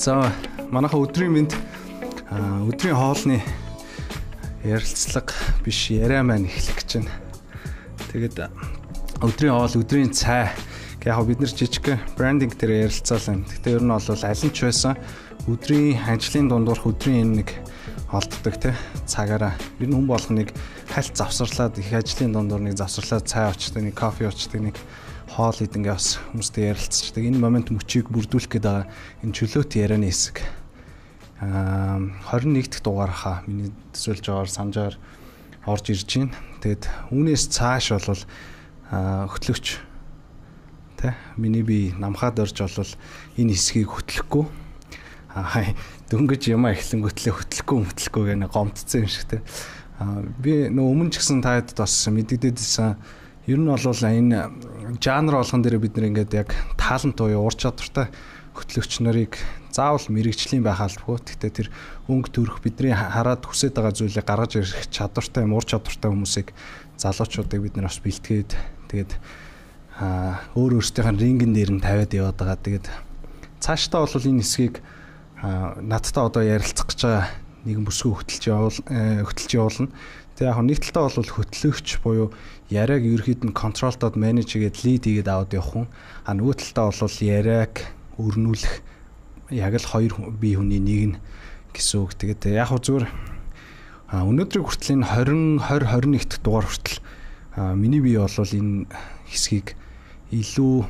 За манайха өдрийн мэнд өдрийн хоолны ярилцлага биш яриа маань эхлэх гэж байна. Тэгээд өдрийн хоол, өдрийн цай яг бид нар жижиг брендинг дээр ярилцаалаа. Гэхдээ ер нь бол аль нь ч байсан өдрийн ажлын дундуурх өдрийн нэг олддог те цагаараа ер нь хүн болгоныг хальт завсарлаад их ажлын дундуур нэг завсарлаад цай очдог, нэг кофе очдог, нэг хоол идэнгээ бас хүмүүстэй ярилцдаг. Энэ момент мөчийг бүрдүүлэх гээд байгаа энэ чөлөөт ярианы хэсэг. 21 дахь дугаархаа миний төсөөлж байгаагаар санджаар орж ирж байна. Тэгэд үүнээс цааш бол хөтлөгч тэ миний би намхаад орж бол энэ хэсгийг хөтлөхгүй. Дөнгөж юмаа эхлэнгөтлөө хөтлөхгүй гэнэ гомдсон юм шиг тэ. Би нөө өмнө ч гэсэн таад бас мэддэгдээдсэн. Ер нь бол энэ жанр болгон дээр бид нэг ингээд яг таалант буюу ур чадвартай хөтлөгч нарыг заавал мэрэгжлийн байх албагүй. Гэхдээ тэр өнгө төрөх бидний хараад хүсэж байгаа зүйлийг гаргаж ирэх чадвартай, ур чадвартай хүмүүсийг залуучуудыг бид нар бас бэлтгээд тэгээд өөр өөрсдийнх нь рингэн дээр нь тавиад яваад байгаа. Тэгээд цаашдаа бол энэ хэсгийг надтай одоо ярилцах гэж байгаа нэгэн бүсгүй хөтлж явуулна. Тэгээ яг нэг талдаа бол хөтлөгч буюу яриаг ерөөд нь контролдод менеж хийгээд лид хийгээд аваад явах хүн. Нөгөө талдаа бол яриаг өрнүүлэх яг л хоёр бие хүний нэг нь гэсэн үг. Тэгээд яг зүгээр өнөөдрийг хүртэл энэ 2021 дахь дугаар хүртэл миний бие бол энэ хэсгийг илүү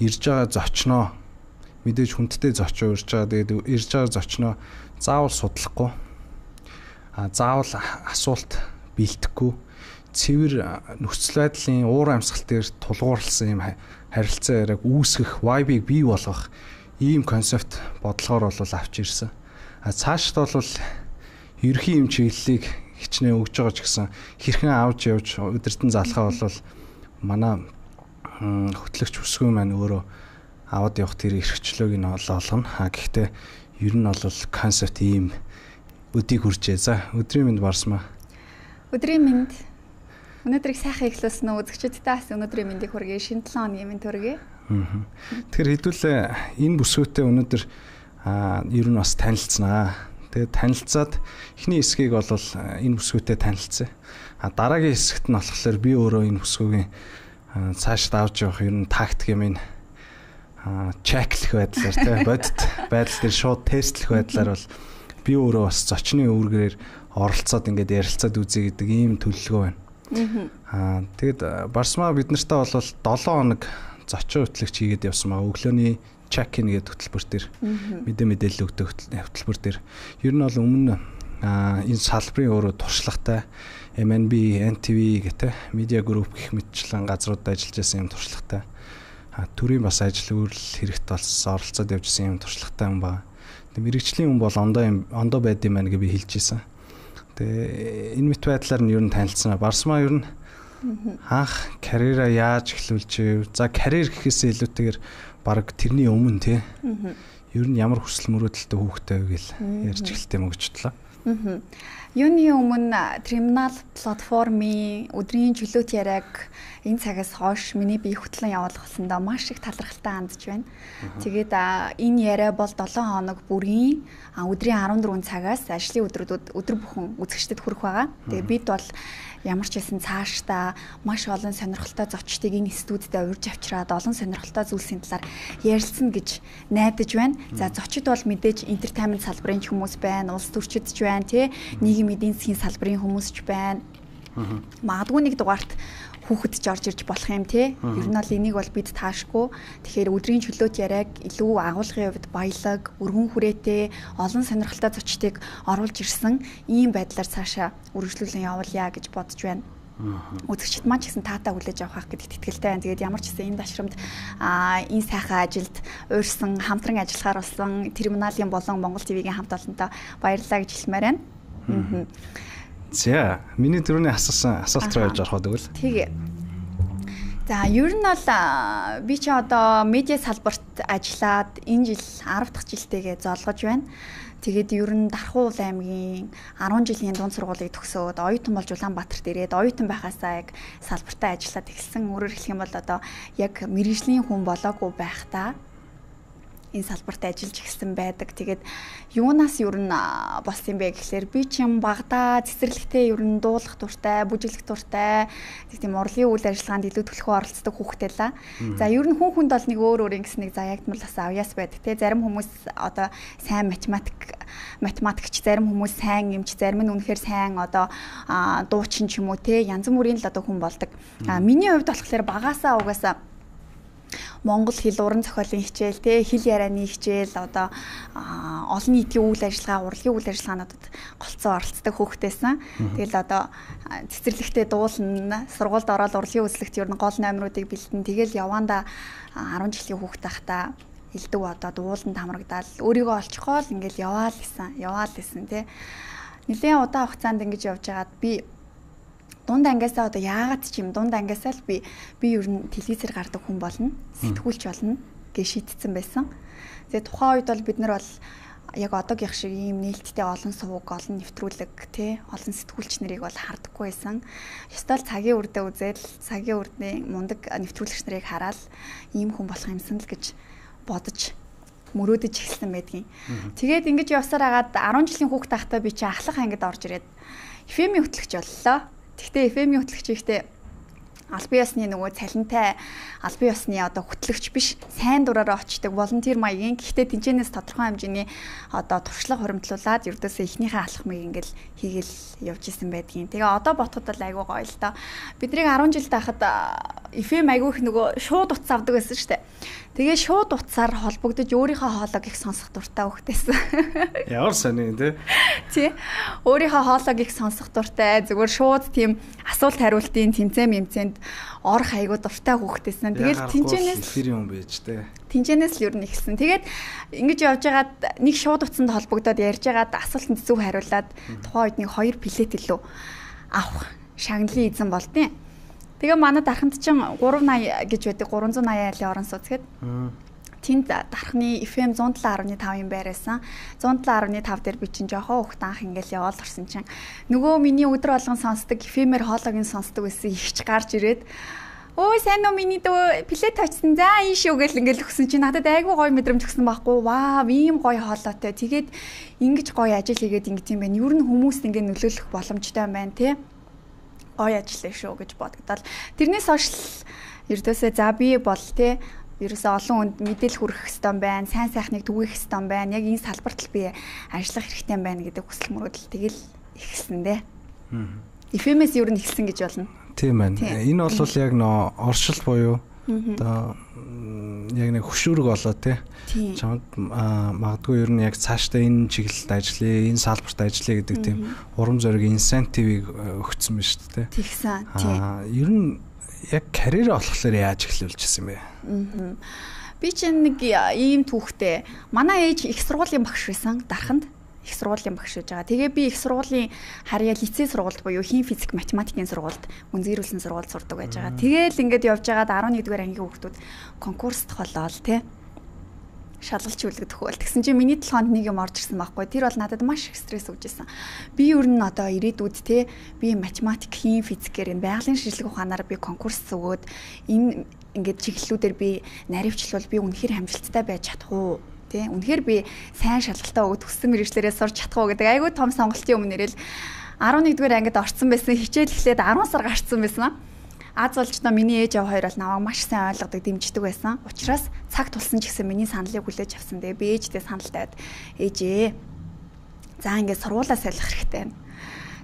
ирж байгаа зочноо мэдээж хүндтэй зочоо ирж байгаа. Тэгээд ирж байгаа зочноо заавал судлахгүй. Заавал асуулт бэлдэхгүй цэвэр нөхцөл байдлын уур амьсгал дээр тулгуурласан юм харилцаа яриаг үүсгэх, vibe-ийг бий болгох ийм концепт бодлогоор бол авч ирсэн. Цаашд бол ерхий юм чиглэлийг хичнээн өгж байгаа ч гэсэн хэрхэн авч явж өдөртөн залхаа бол манай хөтлөгч бүсгүй маань өөрөө аваад явах тэр эрхчлөөг нь олгоно. Гэхдээ ер нь бол концепт ийм өдийг хүрчээ. За өдрийн мэнд барсмаа. Өдрийн мэнд. Өнөөдрийг сайхан эхлүүлсэн үү? Үзэгчдтэй бас өнөөдрийн мэндийг хүргэе. Шинэ 7 өдрийн мэнд хүргэе. Тэгэхээр хэдүүлээ энэ бүсгүйтэй өнөөдөр ер нь бас танилцсанаа. Тэгээд танилцаад эхний хэсгийг бол энэ бүсгүйтэй танилцсан. Дараагийн хэсэгт нь болохоор би өөрөө энэ бүсгүйгийн цаашд авч явах ер нь тактик юм ин чеклэх байдлаар тийм бодит байдал дээр шууд тестлэх байдлаар бол би өөрөө бас зочны үүргээр оролцоод ингээд ярилцаад үзье гэдэг ийм төлөвлөгөө байна. Тэгэд Барсмаа бид нартай бол 7 хоног зочин хөтлөгч хийгээд явсан маа. Өглөөний check-in гэдэг хөтөлбөр төр мэдээлэл өгдөг хөтөлбөр төр. Ер нь бол өмнө энэ салбарын өөрөө туршлагатай MNB, NTV гэдэг медиа групп гэх мэтчлэн газруудад ажиллаж байсан юм туршлагатай. Төрийн бас ажил үйлрэл хэрэгт болсон оролцоод явжсэн юм туршлагатай юм байна. Мэргэжлийн хүн бол ондоо байд юм байна гэж би хэлж ийсэн. Тэгээ энэ мэт байдлаар нь ер нь танилцсанаа. Барсмаа ер нь анх карьераа яаж эхлүүлж, за карьер гэхээсээ илүүтэйгээр баг тэрний өмнө тий. Ер нь ямар хүсэл мөрөөдөлтэй хүүхдтэй гэж ярьж эхэлтэй юм өгчлээ. Юуны өмнө терминал платформын өдрийн чөлөөт яриаг энэ цагаас хойш миний бие хөтлөн явуулах болсондоо маш их талархалтай хандж байна. Тэгээд энэ яриа бол 7 хоног бүрийн өдрийн 14 цагаас ажлын өдрүүдэд өдөр бүхэн үзэгчдэд хүрэх байгаа. Тэгээд бид бол ямар ч байсан цаашдаа маш олон сонирхолтой зочдыг энэ студидд урьж авчираад олон сонирхолтой зүйлсийн талаар ярилцсан гэж найдаж байна. За зочид бол мэдээж entertainment салбарын хүмүүс байна, улс төрчид ч байна, тий нийгмийн эдийн засгийн салбарын хүмүүс ч байна. Магадгүй нэг дугаарт хүүхэд ч орж ирж болох юм тий. Ер нь бол энийг бол бид таашгүй. Тэгэхээр өдрийн чөлөөт яриаг илүү агуулгын хувьд баялаг, өргөн хүрээтэй, олон сонирхолтой зочдыг оруулж ирсэн ийм байдлаар цаашаа үргэлжлүүлэн явуулъя гэж бодож байна. Үзэгчд маань ч гэсэн таатаа хүлээж авах гэдэгт итгэлтэй байна. Тэгээд ямар ч гэсэн энэ ташрамд энэ сайхан ажилд уурсан хамтран ажиллахаар болсон терминалийн болон Монгол ТV-гийн хамт олонтой баярлалаа гэж хэлмээр байна. За, миний түрүүний асуулт руу явж орох гэдэг л. Тэгээ. За, ер нь бол би ч одоо медиа салбарт ажиллаад энэ жил 10 дахь жилтэйгээ золгож байна. Тэгээд ер нь Дархуул аймгийн 10 жилийн дунд сургуулийг төгсөөд оюутан болж Улаанбаатарт ирээд оюутан байхаасаа яг салбартаа ажиллаад эхэлсэн. Өөрөөр хэлэх юм бол одоо яг мэргэжлийн хүн болоогүй байхдаа энэ салбарт ажиллаж эхэлсэн байдаг. Тэгээд юунаас ер нь болсон юм бэ гэхлээр би чинь багада цэцэрлэгтээ ер нь дуулах дуртай, бүжиглэх дуртай, тийм урлын үйл ажиллагаанд илүү төлхөө оролцдог хүүхдтэй л. За ер нь хүн хүнд бол нэг өөр ингэс нэг заягдмалаас авьяас байдаг те. Зарим хүмүүс одоо сайн математикч, зарим хүмүүс сайн эмч, зарим нь үнэхээр сайн одоо дуучин ч юм уу те. Янз бүрийн л одоо хүн болдог. Миний хувьд болохоор багаасаа угаасаа Монгол хэл уран зохиолын хичээл те хэл ярианы хичээл одоо олон нийтийн үйл ажиллагаа урлагийн үйл ажиллагаануудад голцоо оролцдог хүүхдээсэн. Тэгэл одоо цэцэрлэгтээ дуулна, сургуульд ороод урлагийн үзлэгт ер нь гол номеруудыг бэлдэн тэгэл яванда 10 жилийн хүүхд тахта элдв одоо дууланд хамрагдаал өөрийгөө олчихгоо л ингээл яваал исэн те. Нэлээд удаан хугацаанд ингэж явж байгаад би дунд ангиасаа одоо яагаад ч юм дунд ангиасаа л би ер нь телевизээр гардаг хүн болно, сэтгүүлч болно гэж шийдсэн байсан. Тэгээ тухайн үед бол бид нар бол яг одоогийнх шиг ийм нээлттэй олон сувг, олон нэвтрүүлэг тий олон сэтгүүлч нарыг бол хардаггүй байсан. Ёстой л цагийн үрдээ үзэл, цагийн үрдний мундаг нэвтрүүлэгч нарыг хараад ийм хүн болох юмсан л гэж бодож мөрөөдөж эхэлсэн байдгийн. Тэгээд ингэж явсаар агаад 10 жилийн хүүхд тахтаа би чи ахлах ангид орж ирээд FM-ийн хөтлөгч боллоо. Тэгтээ FM-ийн хөтлөгч ихтэй албан ёсны нөгөө цалинтай албан ёсны одоо хөтлөгч биш сайн дураараа очдог волонтер маягийн гэхдээ тэнцэнээс тодорхой хэмжээний одоо туршлага хуримтлуулад ердөөсөө эхнийхээ алхмыг ингээл хийгээл явж исэн байдгийн. Тэгээ одоо ботход бол айгүй гоё л доо. Биднийг 10 жил тахад FM айгүй их нөгөө шууд утас авдаг байсан шүү дээ. Тэгээ шууд утсаар холбогдож өөрийнхөө хоолойг их сонсох дуртай хөхтэйсэн. Ямар сони тий. Өөрийнхөө хоолойг их сонсох дуртай зүгээр шууд тийм асуулт хариултын тэмцээнд орох айгуу дуртай хөхтэйсэн. Тэгээд тэнцэнээс эфирийн хүн байж тээ. Тэнцэнээс л ер нь эхэлсэн. Тэгээд ингэж явж байгаад нэг шууд утсанд холбогдоод ярьж байгаад асуултанд зөв хариулаад тухайн үед нэг 2 плет илүү авах шагналын эзэн болдیں۔ Тэгээ манай дарханд чинь 380 гэж байдаг 380 айлын орон сууц гээд. Тэнд дархны FM 107.5 юм байрасан. 107.5 дээр би чинь жоохон хөхт анх ингээл яваал орсон чинь нөгөө миний өдөр болгон сонсдог FM-ээр хоолойг сонсдог байсан ихч гарч ирээд өө сайн уу миний дөө плет очсон за энэ шүү гэл ингээл өгсөн чинь надад айгүй гоё мэдрэмж өгсөн байхгүй. Вау ийм гоё хоолойтой. Тэгээд ингэж гоё ажил хийгээд ингэж юм байна. Ер нь хүмүүст ингээ нөлөөлөх боломжтой юм байна те. Гоё ажиллая шүү гэж бодогдол. Тэрнээс хойш ердөөсөө за би бол те ерөөсөө олон хүнд мэдээлэл хүргэх хэвээр байна. Сайн сайхныг түгээх хэвээр байна. Яг энэ салбарт л би ажиллах хэрэгтэй байна гэдэг хүсэл мөрөөдөл тэгэл ихсэн дээ. FM-с ер нь ихсэн гэж болно. Тийм байна. Энэ бол яг нөө оршил буюу одоо яг нэг хөшүүрэг болоо те. Чамд магадгүй ер нь яг цаашдаа энэ чиглэлд ажиллая, энэ салбарт ажиллая гэдэг тийм урам зориг инсентивийг өгсөн байна шүү дээ. Тэгсэн. Тийм. Ер нь яг карьер олохлоор яаж эхлүүлчихсэн бэ? Би чинь нэг ийм түүхтэй. Манай ээж их сургуулийн багш байсан дарханд. Их сургуулийн багш байж байгаа. Тэгээ би их сургуулийн харьяа лицей сургуульд буюу хим физик математикийн сургуульд үнзээрүүлсэн сургуульд сурдаг байж байгаа. Тэгээл ингээд явж байгаад 11-р ангийн хүүхдүүд конкурст холоол те. Шалгалч үлгэх хөл. Тэгсэн чинь миний толгойд нэг юм орж ирсэн байхгүй. Тэр бол надад маш их стресс өгч ирсэн. Би ер нь одоо ирээдүйд те би математик, хим физикээр энэ байгалийн шинжилгээ ухаанаар би конкурс өгөөд энэ ингээд чиглэлүүдээр би наривчлал би үнэхээр хамжилттай байж чадах уу? Үнэхээр би сайн шалгалтаа өгд хүссэн мэргэжлэрээ сурч чадах уу гэдэг айгүй том сонголтын өмнөрөл 11-р ангид орсон байсан. Хичээл эхлээд 10 сар гарцсан байсан. Аз олжноо миний ээж аваа хоёр бол намайг маш сайн ойлгодог, дэмждэг байсан. Учираас цаг тулсан ч гэсэн миний саналыг хүлээж авсан. Тэгээ би ээжтэй санал тавиад ээжээ. За ингээд сургуулаа солих хэрэгтэй байна.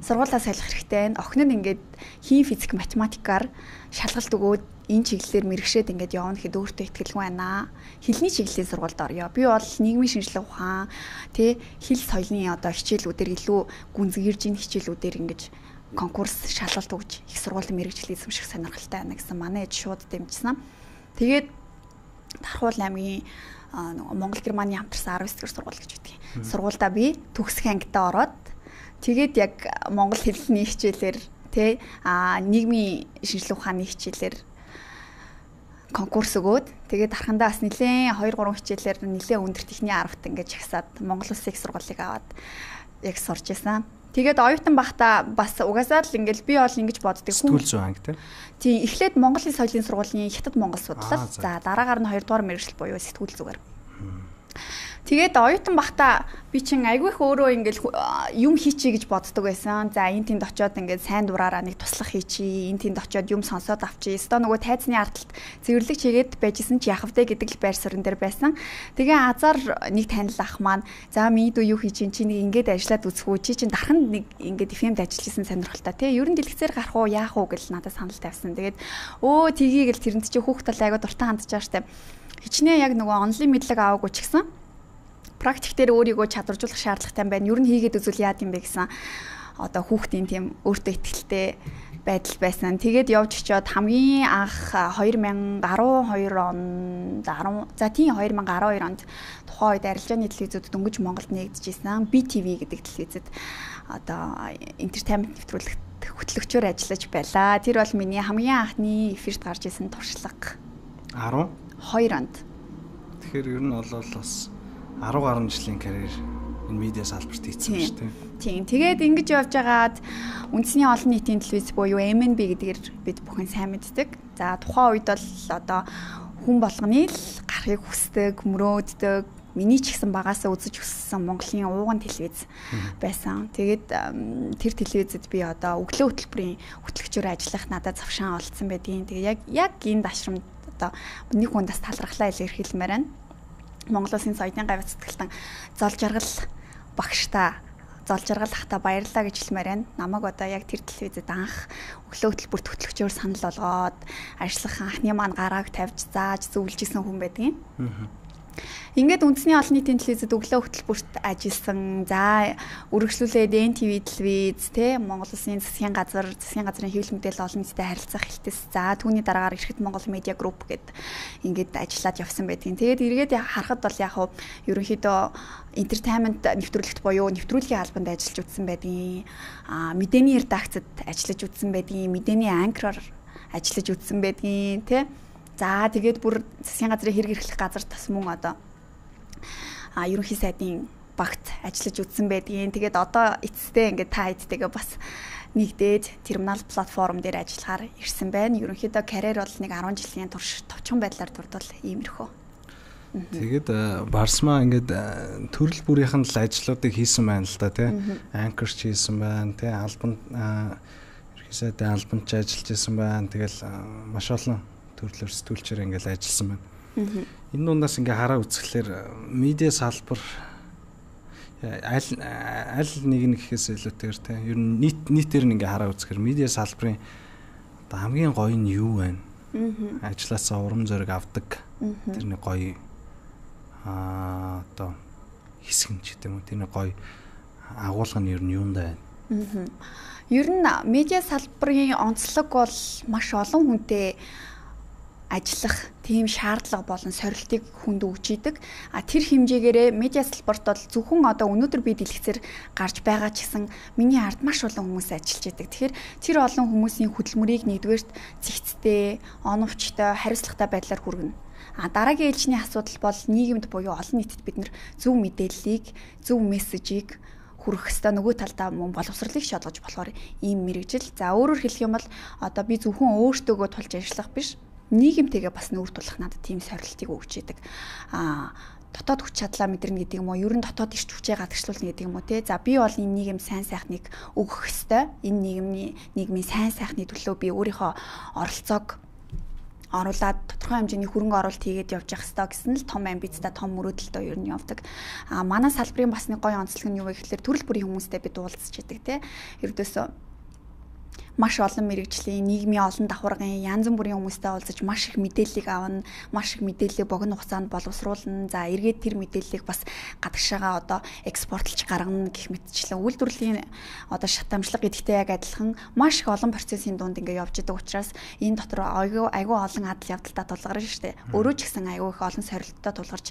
Сургуулаа солих хэрэгтэй байна. Охин нь ингээд хим физик математикаар шалгалт өгөөд энэ чиглэлээр мэрэгшээд ингээд явна гэхэд өөртөө ихтгэлгүй байна. Хэлний чиглэлийн сургуульд орё. Би бол нийгмийн шинжилгээ ухаан, хэл соёлын одоо хичээлүүдээр илүү гүнзгийрж ин хичээлүүдээр ингээд конкурс шалгалт өгж их сургуулийн мэрэгжлийн эзэмших сонирхолтой байна гэсэн манай ээж шууд дэмжсэн. Тэгээд Дархуул аймгийн Монгол Германы хамтарсан 19-р сургууль гэж үүдэг. Сургуульдаа би төгсөх ангидаа ороод тэгээд яг монгол хэлний хичээлээр нийгмийн шинжилгээ ухааны хичээлээр конкурс өгөөд тэгээд дархандаа бас нэлээд 2-3 хичээлээр нэлээд өндөр техникийн 10-т ингэж агсаад Монгол Улсын их сургуулийг аваад яг сурч байсан. Тэгээд оюутан бахта бас угаасаа л ингээл би бол ингэж боддог хүн. Сэтгүүл зүйн анги тийм эхлээд Монголын соёлын сургуулийн Хятад Монгол судлал. За дараагаар нь 2 дугаар мэргэжил буюу сэтгүүл зүгээр. Тэгээд оюутан бахта би чин айгүй их өөрөө ингээл юм хийчий гэж боддог байсан. За энэ тэнд очиод ингээд сайн дураараа нэг туслах хийчий, энэ тэнд очиод юм сонсоод авчий. Өстөө нөгөө тайзны ардталт цэвэрлэг чигээд байжсэн чи яах вэ гэдэг л байр суурин дээр байсан. Тэгээ азар нэг танил ах маань за минь дүү юу хийж чи нэг ингээд ажиллаад үзэх үү? Чи чин дархан нэг ингээд FM-д ажиллаж исэн сонирхолтой тий. Ер нь дэлгэцээр гарах уу, яах уу гэж надад санал тавьсан. Тэгээд өө тгийгэл тэрэнд чи хүүхд тал айгаа дуртай хандж байгаа штэ. Хичнээн яг нөгөө онлайн мэдлэг аваагүй ч гэсэн практик дээр өөрийгөө чадваржуулах шаардлагатай байна. Ер нь хийгээд үзвэл яад юм бэ гэсэн одоо хүүхдийн тийм өөртөө ихтэй байдал байсан. Тэгээд явж очиод хамгийн анх 2012 онд 2012 онд тухайн үед арилжааны телевизүүд дөнгөж Монголд нэгдэжсэн BTV гэдэг телевизэд одоо entertainment нэвтрүүлэгт хөтлөгчөөр ажиллаж байлаа. Тэр бол миний хамгийн анхны эфирт гарч исэн туршлага. 12 онд. Тэгэхээр ер нь бол бас 10 гаруй жилийн карьер энэ медиа салбарт хийсэн шүү дээ. Тийм. Тэгээд ингэж явж байгаад үндэсний олон нийтийн телевиз буюу MNB гэдгээр бид бүхэн сайн мэддэг. За тухайн үед бол одоо хүн болгоны л гарахыг хүсдэг, мөрөөддөг, миний ч гэсэн багасаа үзэж өссөн Монголын ууган телевиз байсан. Тэгээд тэр телевизэд би одоо өглөө хөтөлбөрийн хөтлөгчөөр ажиллах надад завшаан олцсон байдгийн. Тэгээд яг энэ дашрамд одоо нэг хүндээс талархлаа илэрхийлмээр байна. Монгол Улсын соёлын гавь цэцгэлтэн зол жаргал багштай зол жаргал ахта баярлалаа гэж хэлмээр байна. Намайг одоо яг тэр телевизэд анх өглөө хөтөлбөрт хөтлөгчөөр санал болгоод ажиллах анхны маань гарааг тавьж зааж зөвлөжсэн хүн байдгийн. Ингээд үндэсний олон нийтийн телевизэд өглөө хөтөлбөрт ажилласан. За үргэлжлүүлээд NTV телевиз те Монгол Улсын засгийн газрын хэвлэл мэдээлэл олон нийтэд харилцах хэлтэс. За түүний дараагаар Эрхэт Монгол Медиа Групп гэд ингээд ажиллаад явсан байдгийн. Тэгээд эргээд харахад бол яг хуу ерөнхийдөө entertainment нэвтрүүлэгт буюу нэвтрүүлгийн албанд ажиллаж үзсэн байдгийн. Мэдээний редакцид ажиллаж үзсэн байдгийн. Мэдээний анкероор ажиллаж үзсэн байдгийн те. За тэгээд бүр засгийн газрын хэрэг эрхлэх газар тас мөн одоо ерөнхий сайдын багт ажиллаж үзсэн байдгийн. Тэгээд одоо эцэстээ ингээд та хэдтэйгээ бас нэгдээд терминал платформ дээр ажиллахаар ирсэн байна. Ерөнхийдөө карьер бол нэг 10 жилийн турш товчхон байдлаар дурдвал иймэрхүү. Тэгээд Барсмаа ингээд төрөл бүрийнхэн л ажлуудыг хийсэн байна л да тий. Анкерч хийсэн байна тий. Албанд ерөнхий сайдын албанд ч ажиллаж байсан байна. Тэгэл маш олон төрлөөр сэтгүүлчээр ингээл ажилласан байна. Энэ дундаас ингээ хараа үзэхлээр медиа салбар аль нэг нь гэхээс илүүтэйгээр те ер нь нийтээр нь ингээ хараа үзэхээр медиа салбарын одоо хамгийн гоё нь юу вэ? Ажлаасаа урам зориг авдаг. Тэр нэг гоё одоо хэсэг нь ч гэдэг юм уу. Тэр нэг гоё агуулга нь ер нь юундаа байна? Ер нь медиа салбарын онцлог бол маш олон хүнтэй ажиллах тийм шаардлага болон сорилтыг хүнд өгч идэг. Тэр хэмжээгээрээ медиа салбарт бол зөвхөн одоо өнөөдөр би дэлгэцээр гарч байгаа ч гэсэн миний ард маш олон хүмүүс ажиллаж идэг. Тэгэхээр тэр олон хүмүүсийн хөдөлмөрийг нэгдүгээрт зэгцтэй, оновчтой, хариуцлагатай байдлаар хүргэнэ. Дараагийн ээлжний асуудал бол нийгэмд буюу олон нийтэд бид нар зөв мэдээллийг, зөв мессежийг хүргэх хэвээр нөгөө талдаа мөн боловсролыг шалгаж болохоор ийм мэрэгжил. За өөрөөр хэлэх юм бол одоо би зөвхөн өөртөөгөө тулж ажиллах биш, нийгэмтэйгээ бас нүүр тулах надад тийм сорилтыг өгч идэг. Дотоод хүч чадлаа мэдэрнэ гэдэг юм уу? Ер нь дотоод ирч хүчээ гадагшлуулна гэдэг юм уу те? За би бол энэ нийгэм сайн сайхныг өгөх ёстой. Энэ нийгмийн сайн сайхны төлөө би өөрийнхөө оролцоог оруулаад тодорхой хэмжээний хөрөнгө оруулалт хийгээд явж явах ёстой гэсэн л том амбицтай, том мөрөөдөлтөй ер нь явдаг. Манай салбарын бас нэг гоё онцлог нь юу вэ гэхээр төрөл бүрийн хүмүүстэй бид уулзч идэг те. Ердөөсөө маш олон мэрэгжлийн нийгмийн олон давхаргын янз бүрийн хүмүүстэй уулзаж маш их мэдээллийг авна, маш их мэдээллийг богино хугацаанд боловсруулна. За эргээд тэр мэдээллийг бас гадагшаага одоо экспортлж гаргана гэх мэтчлэн үйлдвэрлэлийн одоо шатамжлага гэдэгтэй яг адилхан маш их олон процессын дунд ингээ явж идэг учраас энэ дотор айгүй олон адал явдалтай тулгарна шүү дээ. Өөрөө ч гэсэн айгүй их олон сорилттой тулгарч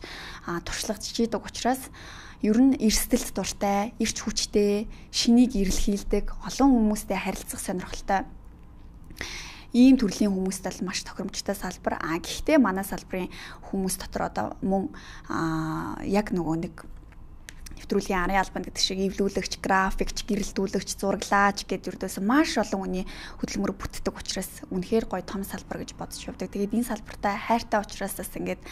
туршлагач идэг учраас ер нь эрсдэлт дуртай, эрч хүчтэй, шинийг эрэлхийлдэг, олон хүмүүстэй харилцах сонирхолтой ийм төрлийн хүмүүстэй л маш тохиромжтой салбар. Гэхдээ манай салбарын хүмүүс дотор одоо мөн яг нөгөө нэг нэвтрүүлгийн арын албанд гэдэг шиг эвлүүлэгч, графикч, гэрэлтүүлэгч, зураглаач гэдэг ердөөс маш олон хүний хөдөлмөр бүтдэг учраас үнэхээр гоё том салбар гэж бодож явдаг. Тэгээд энэ салбартай хайртай учраас бас ингээд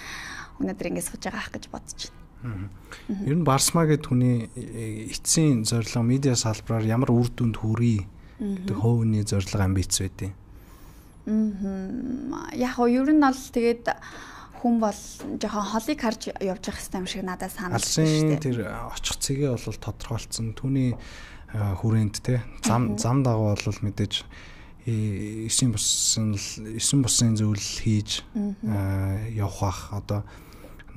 өнөөдөр ингэ сууж байгаа ах гэж бодож байна. Ер нь Барсма гэдэг хүний эцсийн зорилго медиа салбараар ямар үр дүнд хүрээ гэдэг хөвөний зорилго амбиц байдیں۔ Яг нь ер нь бол тэгээд хүн бол жоохон холыг харж явж явах хэрэгтэй юм шиг надад санагдаж байна шүү дээ. Тэр очих цэгээ бол тодорхойлцсон. Түүний хүрээнд те зам дагуу бол мэдээж 9 бусын зүйл хийж явах бах одоо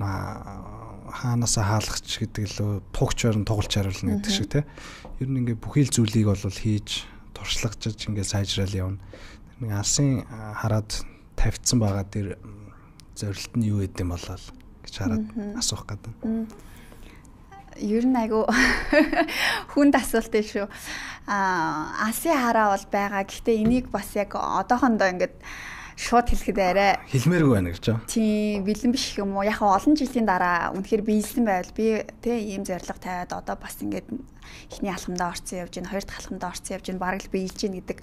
хаанаасаа хаалгач гэдэг лөө тугчаар нь тугалж харуулна гэдэг шиг те. Ер нь ингээ бүхий л зүйлийг бол хийж туршлагажж ингээ сайжраал явна. Нэг алсын хараад тавьчихсан байгаа тэр зорилт нь юу гэдэм болол гэж хараад асуух гэдэг. Ер нь айгу хүнд асуулт шүү. Алсын хараа бол байгаа. Гэхдээ энийг бас яг одоохондоо ингээд шууд хэлэхэд арай хэлмээргүй байна гэж байна. Тийм бэлэн биш юм уу? Яг олон жилийн дараа үнэхээр биелсэн байвал би ийм зорилго тавиад одоо бас ингээд эхний алхамдаа орсон явж байна, хоёр дахь алхамдаа орсон явж байна, бараг л биелж байна гэдэг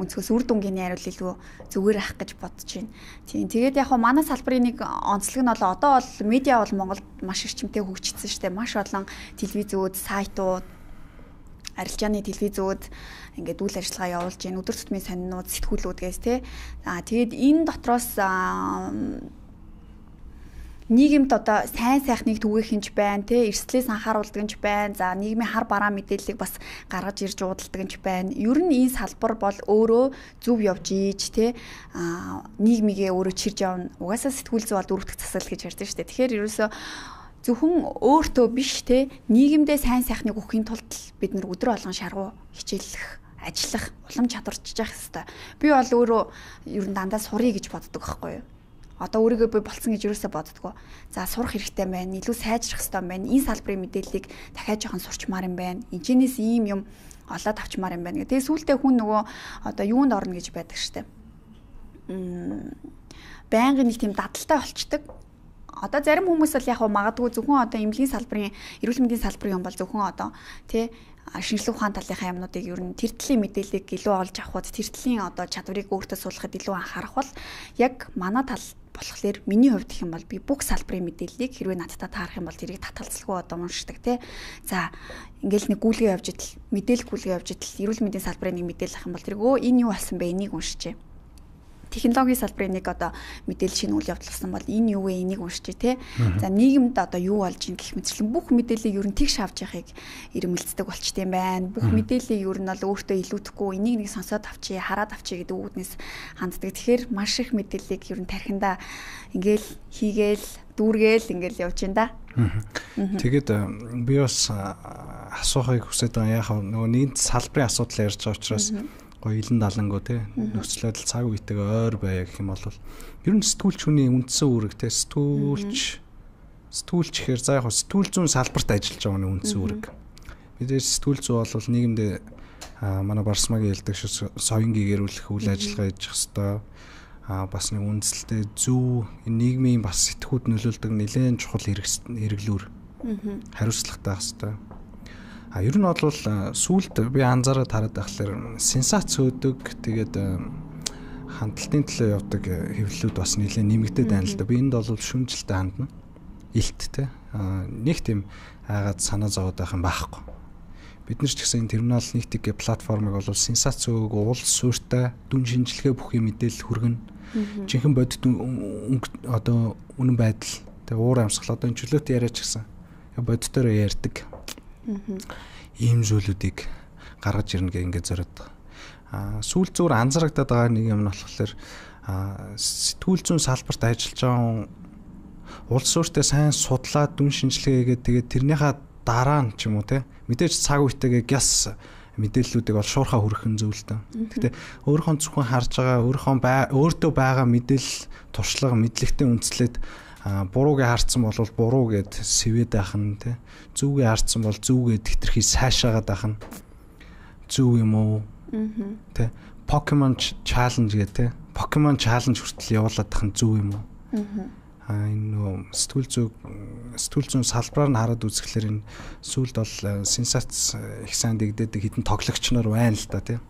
өнцгөөс үр дүнгийн найруул илүү зүгээр ах гэж бодож байна. Тийм тэгээд яг манай салбарын нэг онцлог нь бол одоо бол медиа бол Монголд маш эрчимтэй хөгжчихсөн шүү дээ. Маш олон телевизүүд, сайтууд, арилжааны телевизүүд ингээд үйл ажиллагаа явуулж байна. Өдөр тутмын сонинууд, сэтгүүлүүд гээс тий. Тэгээд энэ дотроос нийгэмд одоо сайн сайхныг түгээх юмч байна тий. Эрсдлээс анхааруулдаг юмч байна. За нийгмийн хар бараа мэдээллийг бас гаргаж ирж уудалдаг юмч байна. Ер нь энэ салбар бол өөрөө зөв явж ийж тий. Нийгмигээ өөрөө чирж явна. Угаасаа сэтгүүл зүй бол дөрөвдөх засал гэж ярьдэн шүү дээ. Тэгэхээр ерөөсөө зөвхөн өөртөө биш те нийгэмдээ сайн сайхныг өгөхийн тулд бид нар өдөр болгон шаргуу хичээллэх, ажиллах, улам чадварчж явах хэрэгтэй. Би бол өөрөө ер нь дандаа сурыг гэж боддог байхгүй юу? Одоо өөрийгөө би болцсон гэж юусаа боддгоо. За сурах хэрэгтэй байна, илүү сайжрах хэрэгтэй байна. Энэ салбарын мэдээллийг дахиад жоохон сурчмаар юм байна. Энэчнээс ийм юм олоод авчмаар юм байна. Тэгээ сүүлдээ хүн нөгөө одоо юунд орно гэж байдаг штэ. Байнгын нэг тийм дадалтай болчдөг. Одоо зарим хүмүүс бол яг магадгүй зөвхөн одоо эмнэлгийн салбарын, эрүүл мэндийн салбарын юм бол зөвхөн одоо тий шинжлэх ухааны талынхаа юмнуудыг ер нь тэр төлөлийн мэдээллийг илүү олж авахд тэр төлөлийн одоо чадварыг өөртөө суулгахад илүү анхаарах бол яг манай тал болохоор миний хувьд гэх юм бол би бүх салбарын мэдээллийг хэрвээ надтай таарах юм бол тэрийг татгалзалгүй одоо уншдаг тий. За ингээл нэг гүйлгээ явж идэл мэдээлэл гүйлгээ явж идэл эрүүл мэндийн салбарын нэг мэдээлэл авах юм бол тэрийг энэ юу болсон бэ энийг уншижээ. Технологийн салбарын нэг одоо мэдээлэл шинэ үйл явдал болсон бол энэ юу вэ энийг уншиж тий. За нийгэмд одоо юу болж ийн гэх мэтчлэн бүх мэдээллийг ер нь тэгш авч яхахыг ирмэлцдэг болчт юм байна. Бүх мэдээллийг ер нь бол өөртөө илүүдэхгүй энийг нэг сонсоод авчи, хараад авчи гэдэг үүднээс ханддаг. Тэгэхээр маш их мэдээллийг ер нь тархиндаа ингээл хийгээл дүүргээл ингээл явж байна да. Тэгээд би бас асуухыг хүсэж байгаа яхаа нөгөө нэг салбарын асуудал ярьж байгаа учраас гоё илэн далангуу те нөхцөлөд цаг үетэйгээ ойр байя гэх юм бол ер нь сэтгүүлч хүний үндсэн үүрэг те сэтгүүлч гэхээр за яг сэтгүүл зүйн салбарт ажиллаж байгаа хүний үндсэн үүрэг. Мэдээж сэтгүүл зүй бол нийгэмд манай Барсмагийн хэлдэг шиг соён гэгэрүүлэх үйл ажиллагаа хийж хэвээр бас нэг үндсэлтэй зөв нийгмийн бас сэтгүүд нөлөөлдөг нэлээд чухал хэрэглүүр хариуцлагатай хэвээр. Ер нь бол сүүлд би анзаараад хараад байхлаар сенсац өгдөг тэгээд хандлтын төлөө явдаг хэвлэлүүд бас нэлээд нэмэгдээд байна л да. Би энд бол шүмжилтэй хандна. Илттэй. Нэг тийм айгаад санаа зовоод байх юм байхгүй. Бид нар ч гэсэн энэ терминал нийтг платформыг бол сенсац өг уул суурьтай дүн шинжилгээ бүхий мэдээлэл хүргэн. Жинхэнэ бодит одоо үнэн байдал тэг уур амьсгал одоо энэ чөлөөт яриач гэсэн бодитоор ярьдаг. Ийм зүйлүүдийг гаргаж ирнэ гэх ингээд зориод байгаа. Сүүл зүгээр анзаарагдаад байгаа нэг юм нь болохоор сэтгүүл зүйн салбарт ажиллаж байгаа улс суурьтай сайн судлаад дүн шинжилгээгээд тэгээд тэрнийхээ дараа нь ч юм уу те мэдээж цаг үетэйгээ гяс мэдээллүүдийг бол шуурхаа хүргэх зүйл таа. Гэхдээ өөрийнхөө зөвхөн харж байгаа өөртөө байгаа мэдээлэл туршлага мэдлэгтэй үндэслээд буруугээ харцсан бол буруу гэд сэвэд байх нь тий. Зүгээ харцсан бол зүгээд хитрхий сайшаагаад байх нь зүг юм уу? Тий. Pokemon challenge гэх тий. Pokemon challenge хүртэл явуулаад байх нь зүг юм уу? Энэ нөө сэтгүүл зүйн салбараар нь хараад үзэхлээр энэ сүүлд бол сенсац их сайн дэгдээдэг хитэн тоглогч нар байна л да тий.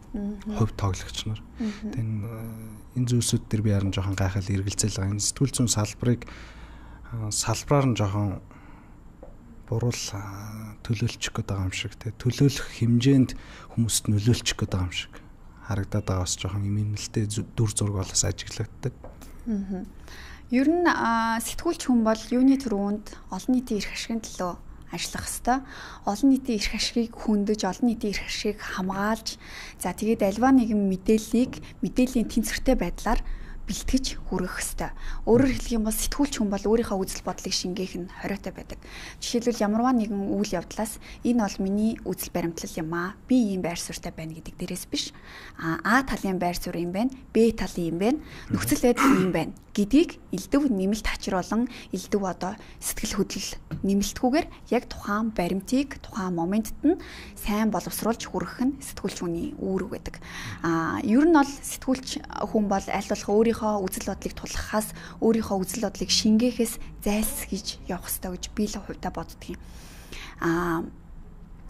Хувь тоглогч нар. Тэгээд энэ зүйлсүүд дээр би харин жоохон гайхал эргэлзэл байгаа. Энэ сэтгүүл зүйн салбараар нь жоохон буруу төлөөлчих гээд байгаа юм шиг те төлөөлөх хэмжээнд хүмүүст нөлөөлчих гээд байгаа юм шиг харагдаад байгаа бас жоохон юм нэлтэй дүр зураг болоос ажиглагддаг. Ер нь сэтгүүлч хүн бол юуны төрөнд олон нийтийн эрх ашигын төлөө ажиллах ёстой. Олон нийтийн эрх ашигыг хөндөж, олон нийтийн эрх ашигыг хамгаалж, за тэгээд альва нэгэн мэдээллийн тэнцвэртэй байдлаар бэлтгэж хүргэх ёстой. Өөрөөр хэлэх юм бол сэтгүүлч хүн бол өөрийнхөө үзэл бодлыг шингээх нь хориотой байдаг. Жишээлбэл ямарваа нэгэн үйл явдлаас энэ бол миний үзэл баримтлал юм аа. Би ийм байр суурьтай байна гэдэг дээрээс биш. А талын байр суурь юм байна. Б талын юм байна. Нөхцөл байдал юм байна гэдгийг элдв нэмэлт хачруулан элдв одоо сэтгэл хөдлөл нэмэлтгүйгээр яг тухайн баримтыг тухайн моментод нь сайн боловсруулж хүргэх нь сэтгүүлч хүний үүрэг байдаг. Ер нь бол сэтгүүлч хүн бол аль болох өөрийнхөө үзэл бодлыг тулгахаас өөрийнхөө үзэл бодлыг шингээхээс зайлсхийж явах ёстой гэж би л хувьдаа боддгийн.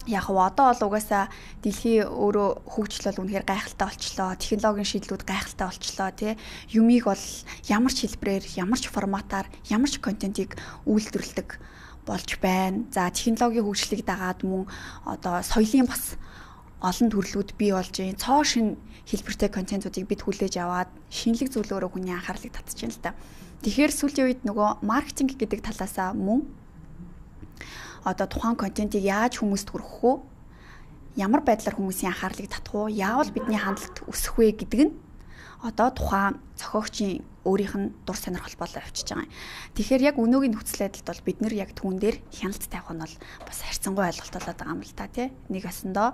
Яг одоо бол угаасаа дэлхий өөрөө хөгжлөл үнэхээр гайхалтай болчлоо. Технологийн шийдлүүд гайхалтай болчлоо тий. Юмыг бол ямар ч хэлбэрээр, ямар ч форматаар, ямар ч контентийг үйлдвэрлэдэг болж байна. За технологийн хөгжлийг дагаад мөн одоо соёлын бас олон төрлүүд бий болж байна. Цоо шин хэлбэртэй контентуудыг бид хүлээж аваад шинэлэг зүйлөөрөө хүний анхаарлыг татж байна л да. Тэгэхээр сүүлийн үед нөгөө маркетинг гэдэг талаасаа мөн одоо тухайн контентийг яаж хүмүүст хүргэх вэ? Ямар байдлаар хүмүүсийн анхаарлыг татах вэ? Яавал бидний хандлт өсөх вэ гэдэг нь одоо тухайн зохиогчийн өөрийнх нь дур сонирхол болоо явчихж байгаа юм. Тэгэхээр яг өнөөгийн нөхцөл байдалд бол бид нэр яг түүн дээр хяналт тавих нь бол бас харьцангуй ойлголт болоод байгаа юм л та тий. Нэг өсөндөө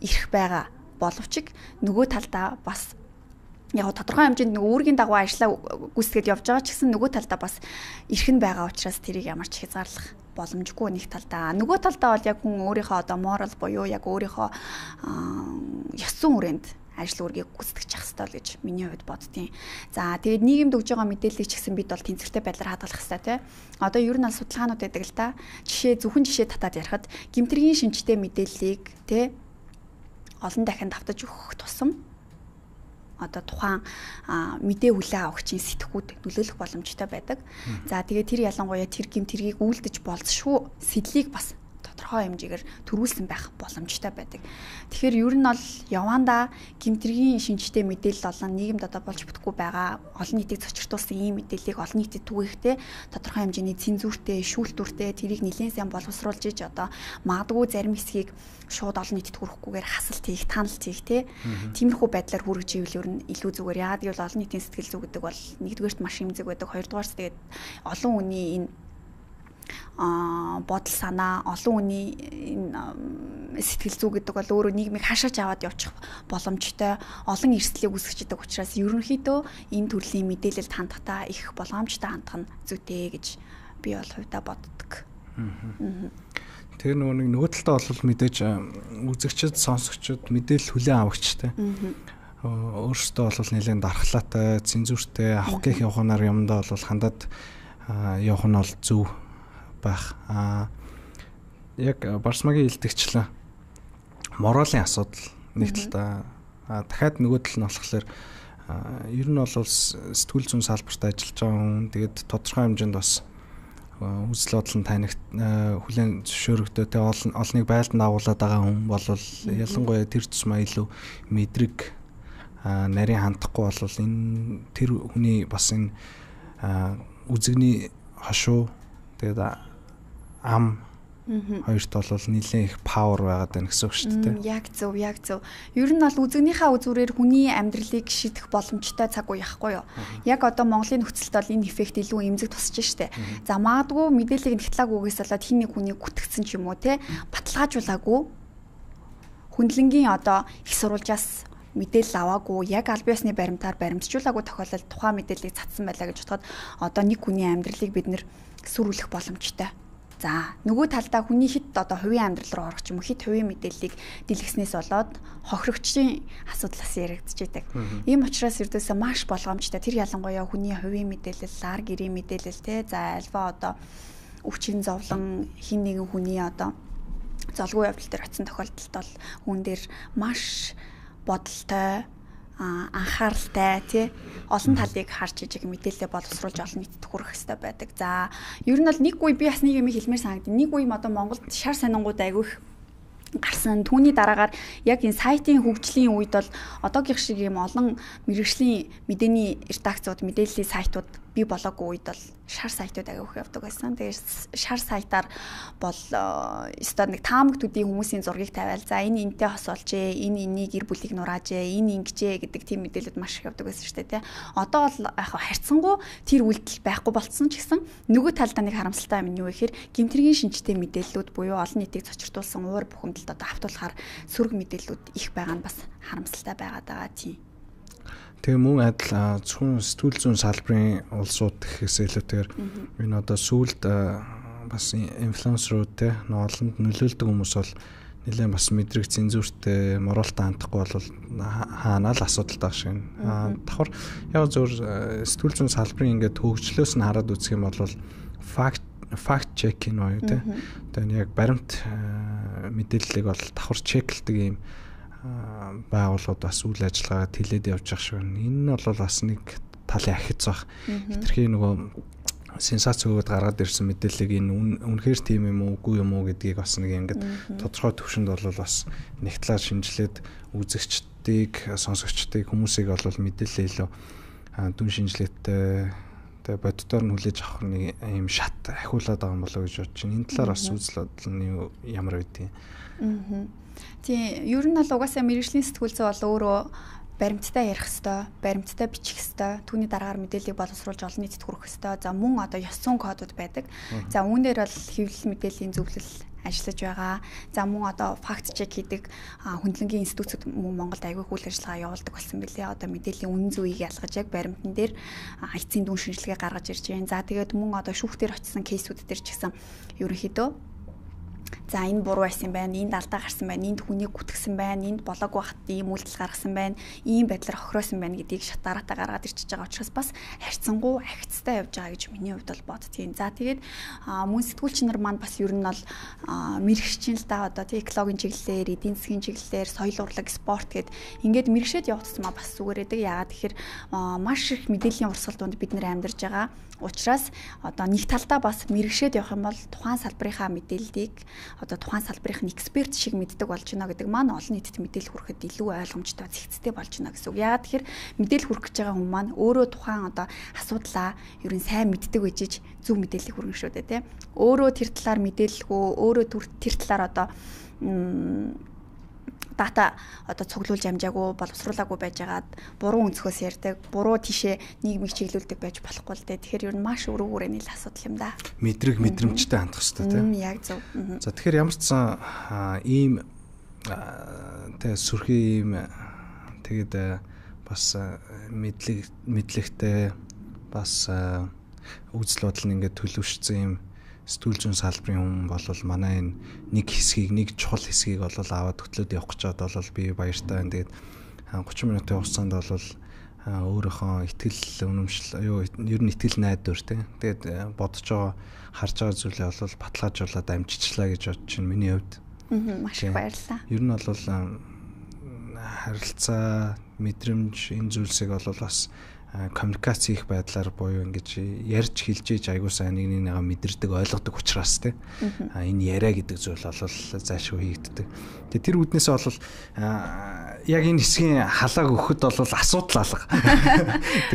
ирэх байгаа боловч нөгөө талдаа бас яг тодорхой хэмжээнд нэг үүргийн дагуу ажиллаа гүйцэтгэж явж байгаа ч гэсэн нөгөө талдаа бас эрхэн байгаа учраас тэрийг ямар ч хязгаарлах боломжгүй нэг талдаа. Нөгөө талдаа бол яг хүн өөрийнхөө одоо морал буюу яг өөрийнхөө ёс зүйн хүрээнд ажил үүргийг гүйцэтгэж явах хэрэгтэй гэж миний хувьд боддیں۔ За тэгээд нийгэмд өгж байгаа мэдээллийг ч гэсэн бид бол тэнцвэртэй байдлаар хадгалах хэрэгтэй тий. Одоо ер нь аль судалгаанууд байдаг л да. Зөвхөн жишээ татаад ярихад гэмтрийн шинжтэй мэдээллийг тий олон дахин давтаж өгөх тусам одоо тухайн мэдээ хүлээ авахчийн сэтгхүүд нөлөөлөх боломжтой байдаг. За тэгээд тэр ялангуяа тэр гэмтрийг үйлдэж болзошгүй сэдлийг бас тодорхой хэмжээгээр төрүүлсэн байх боломжтой байдаг. Тэгэхээр ер нь бол явандаа гэмтрийн шинжтэй мэдээлэл олон нийгэмд одоо болж бүтэхгүй байгаа олон нийтийг цочртуулсан ийм мэдээллийг олон нийтэд түгээхтэй тодорхой хэмжээний цензуртэй, шүүлтүүртэй тэрийг нэлээд сайн боловсруулж иж одоо магадгүй зарим хэсгийг шууд олон нийтэд хүрэхгүйгээр хасалт хийх, таналт хийх тиймэрхүү байдлаар хүргэж ивэл ер нь илүү зүгээр. Яагаад гэвэл олон нийтийн сэтгэл зүй гэдэг бол нэгдүгээрт маш эмзэг байдаг, хоёрдугаарт тэгээд олон хүний энэ бодол санаа, олон хүний сэтгэл зүй гэдэг бол өөрөө нийгмийг хашааж аваад явчих боломжтой олон эрсдлийг үүсгэж байгаа учраас ерөнхийдөө энэ төрлийн мэдээлэлд хандахдаа их болгоомжтой хандах нь зүйтэй гэж би бол хувьдаа боддог. Тэр нөгөө талдаа бол мэдээж үзэгчд, сонсогчд мэдээлэл хүлээн авагчтай. Өөрөөсөө бол нэлээд дархлаатай, цензуртэй авах гэх явахнаар юмдаа бол хандаад явах нь бол зөв байх. Яг Барсмагийн илтгэгчлэн моралын асуудал нэг талдаа дахиад нөгөө тал нь болохоор ер нь бол сэтгүүл зүйн салбарт ажиллаж байгаа хүн тэгээд тодорхой хэмжээнд бас үзэл бодол нь танигт хүлээн зөвшөөрөгдөө тэ олныг байлдан агуулад байгаа хүн бол ялангуяа тэр тусмаа илүү мэдрэг нарийн хандахгүй бол энэ тэр хүний бас энэ үзэгний хошуу тэгээд ам хоёрт бол нэлээд их павер байгаад байна гэсэн үг шүү дээ. Яг зөв. Ер нь бол үзэгнийхээ үзүүрээр хүний амьдралыг шийдэх боломжтой цаг үе яахгүй юу? Яг одоо Монголын нөхцөлд бол энэ эффект илүү эмзэг тусч штэ. За магадгүй мэдээллийг нэгтлаагүйгээс болоод хин нэг хүний гүтгэцсэн ч юм уу те баталгаажуулаагүй хүндлэнгийн одоо их сурвалжаас мэдээлэл аваагүй яг аль биесны баримтаар баримтжуулаагүй тохиолдолд тухайн мэдээллийг цацсан байлаа гэж бодоход одоо нэг хүний амьдралыг бид нэр сүрүүлэх боломжтой. За нөгөө талдаа хүний хит одоо хувийн амьдрал руу орох ч юм уу хит хувийн мэдээллийг дэлгэснээс болоод хохирогчдын асуудлаас яригдж байдаг. Ийм учраас ердөөсөө маш болгоомжтой. Тэр ялангуяа хүний хувийн мэдээлэл, ар гэрийн мэдээлэл те за альва одоо өвчин зовлон хин нэгэн хүний одоо золгүй явдал дээр очисон тохиолдолд бол хүн дээр маш бодолтой анхааралтай тий олон талыг харж ижиг мэдээлэлээ боловсруулж олон нийтэд хүргэх хэрэгтэй байдаг. За ер нь бол нэг үе би бас нэг юм хэлмээр санагдав. Нэг үе одоо Монголд шар сонингууд айгүй их гарсан. Түүний дараагаар яг энэ сайтын хөгжлийн үед бол одоогийн шиг юм олон мэргэжлийн мэдээний редакцууд, мэдээллийн сайтууд бий болоогүй үед бол шар сайтууд агиух явдаг байсан. Тэгээд шар сайтаар бол өстой нэг таамагтуудын хүмүүсийн зургийг тавиал. За энэ энтэй хосоолжээ, энэ энийг гэр бүлийг нураажээ, энэ ингэжээ гэдэг тийм мэдээлэлд маш их явдаг байсан шүү дээ, тий. Одоо бол яг харьцангуй тэр үйлдэл байхгүй болцсон ч гэсэн нөгөө талдаа нэг харамсалтай юм нь юу гэхээр гэмтрийн шинжтэй мэдээллүүд буюу олон нийтийг цочртуулсан уур бухимдалд одоо автуулахаар сөрөг мэдээллүүд их байгаа нь бас харамсалтай байгаад байгаа тийм. Тэгээ мөн адил зөвхөн сэтгүүл зүйн салбарын улсууд гэхээс илүүтэйгээр энэ одоо сүүлд бас инфлюенсерүүд те олонд нөлөөлдөг хүмүүс бол нэлээд бас мэдрэг цензуртэй моралтай хандахгүй бол хаанаа л асуудалтай шиг байна. Давхар яг зөвхөн сэтгүүл зүйн салбарын ингээд хөгжлөөс нь хараад үзэх юм бол факт чек юм уу те. Тэгээ яг баримт мэдээллийг бол давхар чеклдэг юм байгууллагууд бас үйл ажиллагаа тэлээд явж байгаа шиг байна. Энэ нь бол бас нэг талын ахиц баг. Хитрхи нөгөө сенсац өгөөд гаргаад ирсэн мэдээллийг энэ үнэхээр тийм юм уу, үгүй юм уу гэдгийг бас нэг ингээд тодорхой төвшөнд бол бас нэг талаар шинжилээд үзэгчдийг, сонсогчдыг, хүмүүсийг бол мэдээлэл илүү дүн шинжилгээтэй тэгээ боддоор нь хүлээж авах нэг юм шат ахиулаад байгаа юм болоо гэж бодож байна. Энэ талаар бас үзэл бодол нь ямар байдгийг. Тийм, ер нь бол угаасаа мэргэжлийн сэтгүүл зүй бол өөрөө баримттай ярих хэвээр, баримттай бичих хэвээр, түүний дараагаар мэдээллийг боловсруулж олон нийтэд хүргэх хэвээр. За мөн одоо ёс зүйн кодууд байдаг. За үүн дээр бол хэвлэл мэдээллийн зөвлөл ажиллаж байгаа. За мөн одоо факт чек хийдэг хөндлөнгийн институтууд мөн Монголд аягүй үйл ажиллагаа явуулдаг болсон билээ. Одоо мэдээллийн үнэн зөвийг ялгаж яг баримтан дээр эцсийн дүн шинжилгээ гаргаж ирж байна. За тэгээд мөн одоо шүүхтэр очсон кейсүүд дээр ч гэсэн ерөнхийдөө за энэ буруу байсан байна, энд алдаа гарсан байна, энд хүнийг гүтгсэн байна, энд болоогүй хат ийм үйлдэл гаргасан байна, ийм байдлаар хохироосон байна гэдгийг шатааратаа гаргаад ирчихэж байгаа учраас бас харьцангуй ахицтай явж байгаа гэж миний хувьд бол боддгийн. За тэгээд мөн сэтгүүлч нар маань бас ер нь бол мэрэгчийн л да одоо тий экологийн чиглэлээр, эдийн засгийн чиглэлээр, соёл урлаг, спорт гэд ингээд мэрэгшээд явагдсан бас зүгээр эдэг. Яагаад тэгэхээр маш их мэдээллийн урсгалд бид нэр амьдарч байгаа. Учираас одоо нэг талдаа бас мэрэгшээд явах юм бол тухайн салбарынхаа мэдээллийг одоо тухайн салбарын эксперт шиг мэддэг болж байна гэдэг маань олон нийтэд мэдээлэл хүрэхэд илүү ойлгомжтой, зэгцтэй болж байна гэсэн үг. Яагаад тэгэхээр мэдээлэл хүргэж байгаа хүмүүс маань өөрөө тухайн одоо асуудлаа ер нь сайн мэддэг байжиж зөв мэдээллийг хүргэн шүү дээ, тийм. Өөрөө тэр талаар мэдээлэлгүй, өөрөө тэр талаар одоо дата одоо цуглуулж амжаагүй, боловсруулаагүй байжгаад буруу өнцгөөс ярьдаг, буруу тийшээ нийгмийг чиглүүлдэг байж болохгүй л дээ. Тэгэхээр ер нь маш өрөө хүрээний л асуудал юм да. Мэдрэмжтэй хандах хэрэгтэй тийм. Яг зөв. За тэгэхээр ямар ч сан ийм тэгээ сүрхий ийм тэгээд бас мэдлэгтэй бас үзэл бодол нь ингээд төлөвшсөн юм сэтгүүл зүйн салбарын хүн бол манай энэ нэг хэсгийг, нэг чухал хэсгийг бол аваад хөтлөөд явах гэж бодвол би баяртай байна. Тэгээд 30 минутын хугацаанд бол өөрийнхөө итгэл үнэмшил ер нь итгэл найдвар тийм. Тэгээд бодож байгаа, харж байгаа зүйлээ бол баталгаажуулаад амжичлаа гэж бодож байна миний хувьд. Маш их баярлалаа. Ер нь бол харилцаа, мэдрэмж энэ зүйлсийг бол бас коммуникац хийх байдлаар буюу ингэж ярьж хэлж айгуу сайн нэг нэгээ мэдэрдэг, ойлгодог учраас тийм энэ яриа гэдэг зүйл бол зайлшгүй хийгддэг. Тэгээ тэр үднээсээ бол яг энэ хэсгийн халааг өгөхөд бол асуудал алга.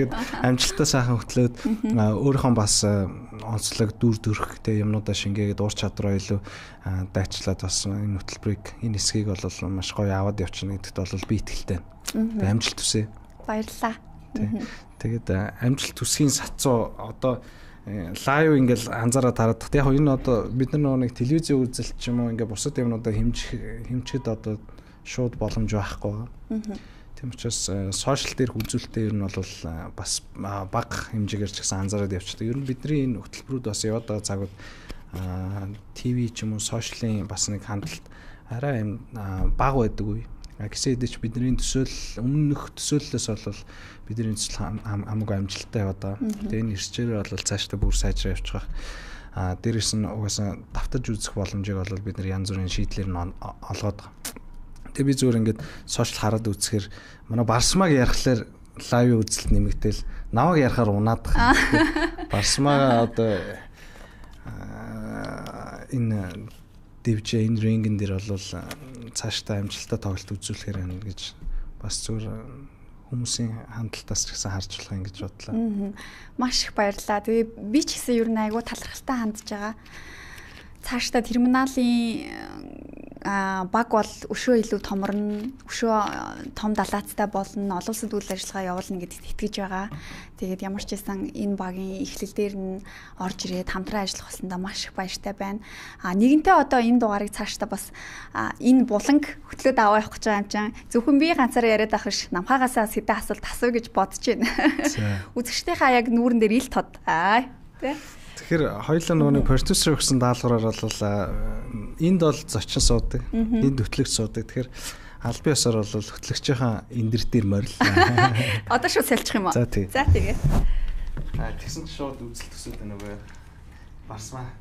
Тэгээд амжилттай сайхан хөтлөөд өөрийнхөө бас онцлог дүр төрхтэй юмнуудаа шингээгээд уур чадвараа илүү дайчлаад бас энэ хөтөлбөрийг, энэ хэсгийг бол маш гоё аваад явчихна гэдэгт бол би итгэлтэй байна. Амжилт хүсье. Баярлалаа. Тэгээд амжилт төсгийн сацуу одоо лайв ингээл анзаараад хараад яг энэ одоо бид нар нэг телевизийн үзэлт ч юм уу ингээ бусад юмнуудаа хэмжихэд одоо шууд боломж байхгүй. Тийм учраас сошиал дээрх үзүүлэлтээ ер нь бол бас бага хэмжээгээр ч гэсэн анзаараад явчихдаг. Ер нь бидний энэ хөтөлбөрүүд бас яваад байгаа цагууд ТV ч юм уу сошиалын бас нэг хандлт арай юм бага байдаг үе. Гэсэн хэдий ч бидний төсөөл өмнөх төсөөллөөс бол бидний төсөл хамаагүй амжилттай яваад байгаа. Тэгээ энэ ирчээр бол цаашдаа бүр сайжраа явчих. Дээрээс нь угаасаа давтаж үзэх боломжийг бол бид нар янз бүрийн шийдлэр нь олгоод байгаа. Тэгээ би зүгээр ингээд сошиал хараад үзэхээр манай Барсмаг ярихлаар лайв үзэлт нэмэгдээл наваг ярахаар унаад байгаа. Барсмага одоо энэ дэвжээ энэ рингэн дээр бол цаашдаа амжилттай тоглолт үзүүлэхээр байна гэж бас зүгээр хүмүүсийн хандлтаас ч гэсэн харж болох юм гэж бодлоо. Маш их баярлалаа. Тэгээ би ч гэсэн ер нь айгүй талархалтай хандж байгаа. Цаашдаа терминалийн баг бол өшөө илүү томорно, өшөө том далаацтай болно, олон улсад үйл ажиллагаа явуулна гэдэгт итгэж байгаа. Тэгээд ямар ч байсан энэ багийн эхлэл дээр нь орж ирээд хамтран ажиллах болсондоо маш их баяртай байна. Нэгэнтээ одоо энэ дугаарыг цаашдаа бас энэ буланг хөтлөөд аваа явах гэж байгаа юм чинь зөвхөн би ганцаараа яриад авах ш намхаагаасаа сэдэ асуулт асуу гэж бодож байна. Үзэгчдийнхаа яг нүүрэн дээр ил тод. Тэ. Тэгэхээр хоёулаа нөгөө продюсер өгсөн даалгавраар бол энд бол зочин суудаг, энд хөтлөгч суудаг. Тэгэхээр аль бие ёсоор бол хөтлөгчийн эндэр дээр морил. Одоо шууд салчих юм уу? За тэгээ. Тэгсэн чи шууд үзэл төсөөд байна уу? Барсмаа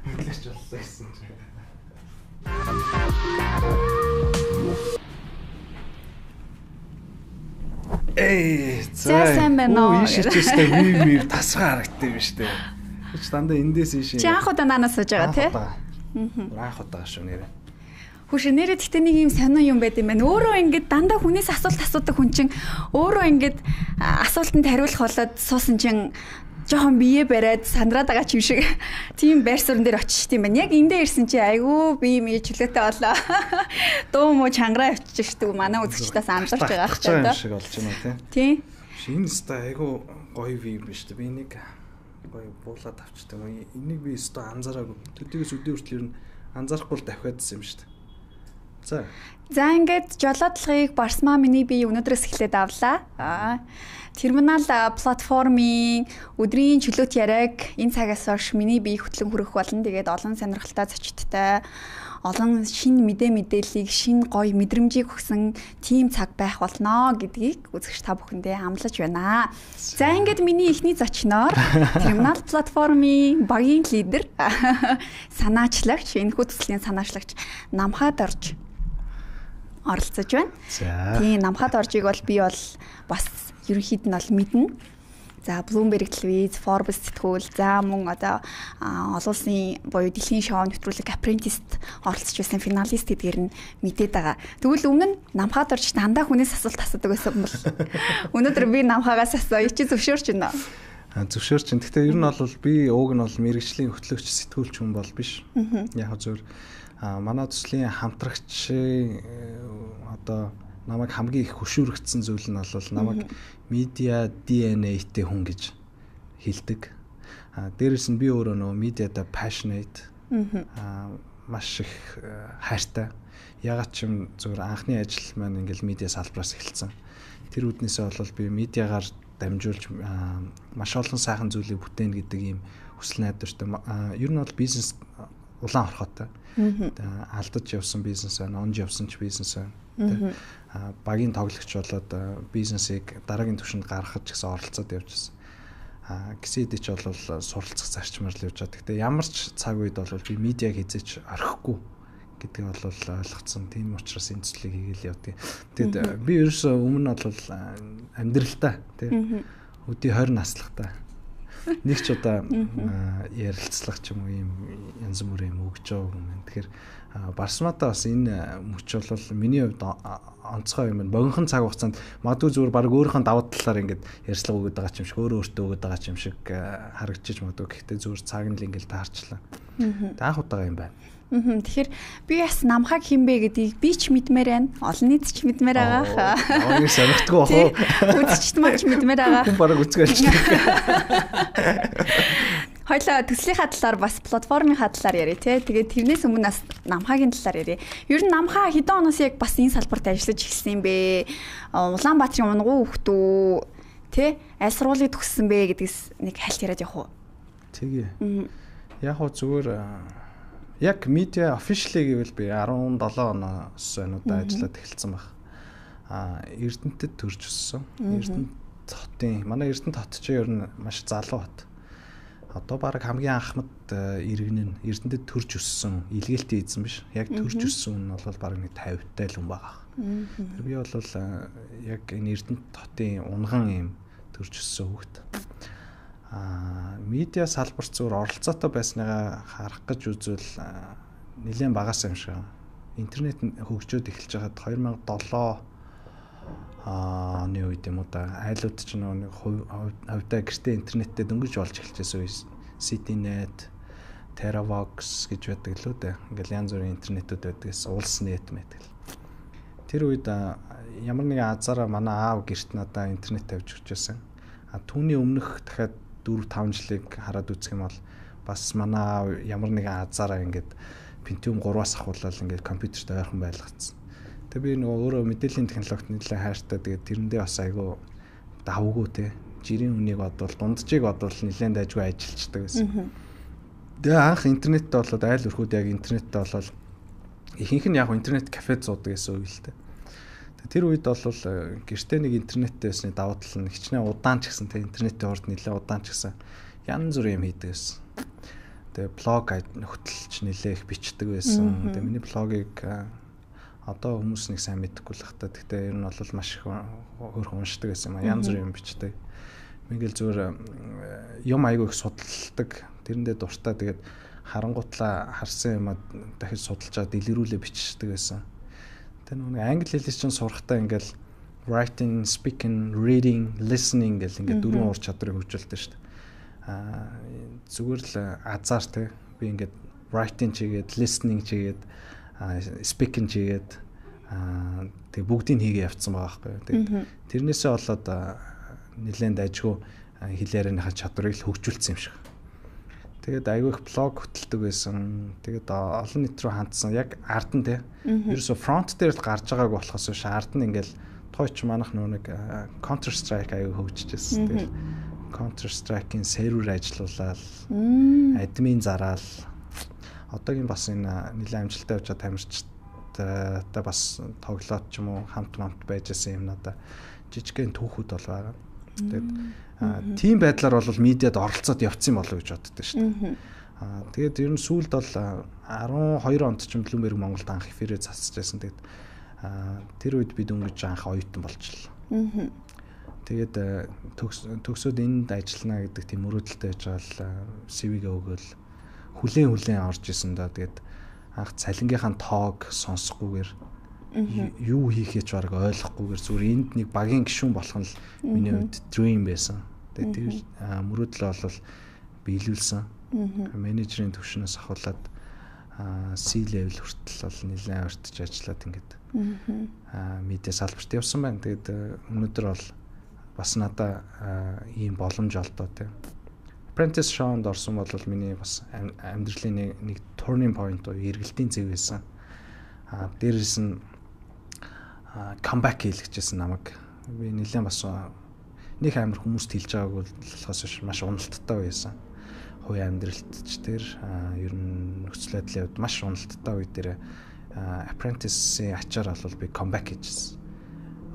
хөтлөгч болсон гэсэн чи. сайн байна уу? Ийш чистэй ми тасгаа харагддаг юм шүү дээ. Чи дандаа эндээс ийш. Чи анх удаа наанаас сууж байгаа тий? Анх удаа шүү нэрээ. Хүш нэрээ гэхдээ нэг юм сонио юм байт юм байна. Өөрөө ингэж дандаа хүнээс асуулт асуудаг хүн чинь өөрөө ингэж асуултанд хариулах болоод суусан чинь жоохон бие бариад сандраад байгаа ч юм шиг тийм байр суурин дээр очиж тийм байна. Яг эндээ ирсэн чи айгүй бие мие чөлөөтэй болоо. Дуу муу чангараа явчих шүү дээ. Манай үзэгчдээс анзаарч байгаа хэрэг юм шиг болж байна тий. Энэ стай айгүй гоё юм биш үү? Би нэг гоё буулаад авчдаг. Энийг би өстө анзаараагүй. Төдийгөөс өдөө хүртэл ер нь анзаарахгүй давхиадсан юм шүү дээ. За ингээд жолоодлогыг Барсмаа миний би өнөөдрөөс эхлээд авлаа. Терминал платформын өдрийн чөлөөт яриаг энэ цагаас хойш миний бие хөтлөн хүрэх болно. Тэгээд олон сонирхолтой зочдтой олон шинэ мэдээллийг шинэ гоё мэдрэмжийг өгсөн тим цаг байх болно гэдгийг үзэгч та бүхэндээ амлаж байна. За ингээд миний эхний зочноор терминал платформын багийн лидер санаачлагч энэхүү төслийн санаачлагч Намхад орж оролцож байна. Тийм Намхад оржийг бол би бол бас ерөнхийд нь бол мэднэ. За Bloomberg телевиз, Forbes сэтгүүл, за мөн одоо олон улсын буюу дэлхийн шоу нэвтрүүлэг Apprentice-д оролцож байсан финалист гэдгээр нь мэдээд байгаа. Тэгвэл өмнө Намхад орж дандаа хүнээс асуулт асуудаг байсан бол өнөөдөр би Намхагаас асууя чи зөвшөөрч байна уу? Зөвшөөрч байна. Гэхдээ ер нь бол би ууг нь бол мэрэгжлийн хөтлөгч сэтгүүлч хүн бол биш. Яг зөв манай төслийн хамтрагчийн одоо намайг хамгийн их хөшүүрэгдсэн зүйл нь бол намайг медиа DNA-тэй хүн гэж хэлдэг. Дээрээс нь би өөрөө нөгөө медиада passionate маш их хайртай. Ягаад ч юм зөвхөн анхны ажил маань ингээл медиа салбараас эхэлсэн. Тэр үднээсээ бол би медиагаар дамжуулж маш олон сайхан зүйлийг бүтээнэ гэдэг ийм хүсэл найдвартай. Ер нь бол бизнес улаан орхотой. Алдаж явсан бизнес байна, онж явсан ч бизнес байна. Багийн тоглогч болоод бизнесийг дараагийн түвшинд гаргахад ч гэсэн оролцоод явжсэн. Гисэд ч бол суралцах зарчмаар л явж байгаа. Гэхдээ ямар ч цаг үед бол би медиаг хязгаарч орхихгүй гэдгийг бол ойлгоцсон. Тийм учраас энэ зүйлийг хийгээл явдаг. Тэгэд би ерөөсөө өмнө бол амьдралдаа тий өдий 20 наслахтаа нэг ч удаа ярилцлах ч юм уу юм янз бүрийн юм өгч байгаа юм. Тэгэхээр Барсматаа бас энэ мөч бол миний хувьд онцгой юм байна. Богинохон цаг хугацаанд магадгүй зүгээр баг өөрийнхөө давуу талаар ингээд ярьцлага өгöd байгаа юм шиг өөртөө өгöd байгаа юм шиг харагдчих магадгүй. Гэхдээ зүгээр цаг нь л ингээд таарчлаа. Анх удаа юм байна. Тэгэхээр би бас Намхаг хинбэ гэдгийг би ч мэдмээр байна. Олон нийт ч мэдмээр байгаа. Ооёр сонирхтгүй бах уу? Үзэгчд маань ч мэдмээр байгаа. Хүн бараг үзгэлж. Хоёлаа төслийнхаа талаар бас платформынхаа талаар яриа тий. Тэгээд тэрнээс өмнө бас Намхагийн талаар яриа. Ер нь Намхаа хэдэн оноос яг бас энэ салбарт ажиллаж эхэлсэн юм бэ? Улаанбаатарын унгуу хөхтүү тий? Аль сургуулийг төгссөн бэ гэдгээс нэг хальт яриад явах уу? Тэгээ. Яг хоо зүгээр яг медиа officially гэвэл би 17 оноос өнөөдөр ажиллаад эхэлсэн баг. Эрдэнэтэд төрж өссөн. Эрдэнэт хотын манай Эрдэнэт хот чинь ер нь маш залуу хот. Одоо баг хамгийн анхмад иргэн нь Эрдэнэтэд төрж өссөн, илгээлтийн эзэн биш. Яг төрж өссөн нь бол баг нэг 50-тай л хүн байгаа. Тэр би бол яг энэ Эрдэнэт хотын унган юм төрж өссөн хүүхэд. Медиа салбарт зүгээр оролцоотой байсныгаа харах гэж үзвэл нэлээд багаас юм шиг. Интернет хөгжөөд эхэлж байхад 2007 оны үед юм уу да айлууд ч нэг хувьдаа гэртээ интернеттэй дөнгөж болж эхэлчихсэн үе. CityNet, Teravox гэж байдаг лөө дээ. Ингээл янз бүрийн интернетүүд байдгээс Улснет мэдэл. Тэр үед ямар нэгэн азаараа манай аав гэрт надаа интернет тавьж өгчээсэн. Түүний өмнөх дахиад 4-5 жилиг хараад үзэх юм бол бас манай аав ямар нэгэн азаараа ингээд Pentium 3-аас ахуулаад ингээд компьютерт ойрхон байлгацсан. Тэгээ би нөгөө өөрөө мэдээллийн технологид нэлээд хайртай. Тэгээд тэрэндээ бас айгүй давгүй те. Жирийн үнийг бодвол дунджийг бодвол нэлээд дайггүй ажиллаждаг байсан. Тэгээ анх интернеттэй болоод айл өрхүүд яг интернеттэй болоод ихэнх нь яг интернет кафед зуудаг гэсэн үг л дээ. Тэр үед бол гэртээ нэг интернеттэй байсны давуу тал нь хичнээн удаан ч гэсэн те интернетийн урд нэлээд удаан ч гэсэн янз бүрийн юм хийдэг байсан. Тэгээ блог хөтлж нэлээд их бичдэг байсан. Тэгээ миний блогийг одоо хүмүүс нэг сайн мэдэхгүй л хата. Гэхдээ ер нь бол маш их хөөрхөн уншдаг гэсэн юм. Янз бүрийн юм бичдэг. Мэгэл зүгээр юм айгүй их судалдаг. Тэрэндээ дуртай. Тэгээд харангуутлаа харсан юм дахиж судалжаад дэлгэрүүлээ бичдэг гэсэн. Тэр нэг англи хэлээс чинь сурахтаа ингээл writing, speaking, reading, listening гэл ингээд дөрвөн ур чадрыг хөгжүүлдэг шүү дээ. Зүгээр л азар те. Би ингээд writing чигээд, listening чигээд speaking чигээд тэг бүгдийг хийгээ явцсан байгаа байхгүй. Тэгээд тэрнээсээ болоод нэлээд дайжгүй хэлээрийнхаа чадварыг л хөгжүүлсэн юм шиг. Тэгээд айгүй их блог хөтэлдэг байсан. Тэгээд олон нийт рүү хандсан. Яг ард нь те. Ерөөсө фронт дээр л гарч байгааг болохоос биш ард нь ингээл тойч манах нэг Counter Strike айгүй хөгжижсэн. Тэгээд Counter Strike-ийн сервер ажиллуулаад админ зараал одоогийн бас энэ нэлээд амжилттай явж байгаа тамирчтай бас тоглоод ч юм уу хамт байжсэн юм надаа жижигхэн түүхүүд бол байгаа. Тэгээд тийм байдлаар бол медиад оролцоод явцсан болов гэж боддоо шүү дээ. Тэгээд ер нь сүүлд бол 12 онд ч Bloomberg Монголд анх эфирээ засаж байсан. Тэгээд тэр үед бид өнгөж анх оюутан болчихлоо. Тэгээд төгсөөд энд ажиллана гэдэг тийм мөрөөдөлтэй байж байгаа CV-гээ өгөөл хүлээн орж исэн да. Тэгээд анх цалингийнхаа тоог сонсохгүйгээр юу хийхээ ч бараг ойлгохгүйгээр зүгээр энд нэг багийн гишүүн болох нь л миний хувьд dream байсан. Тэгээд тэр мөрөөдлөө бол биелүүлсэн. Менежерийн төвшнөөс ахуулаад C level хүртэл бол нэлээд өртөж ажиллаад ингээд медиа салбарт явсан байна. Тэгээд өнөөдөр бол бас надаа ийм боломж олдоо тийм. Apprentice Show-нд орсон бол миний бас амьдралын нэг turning point уу эргэлтийн зэв байсан. Дээрээс нь comeback хийлгэжсэн намайг. Би нэлээд бас нэг амар хүмүүст хэлж байгааг болохоос маш уналттай байсан. Хувийн амьдралт ч тэр ер нь нөхцөл байдлын хувьд маш уналттай үе дээр Apprentice-ийн ачаар бол би comeback хийжсэн.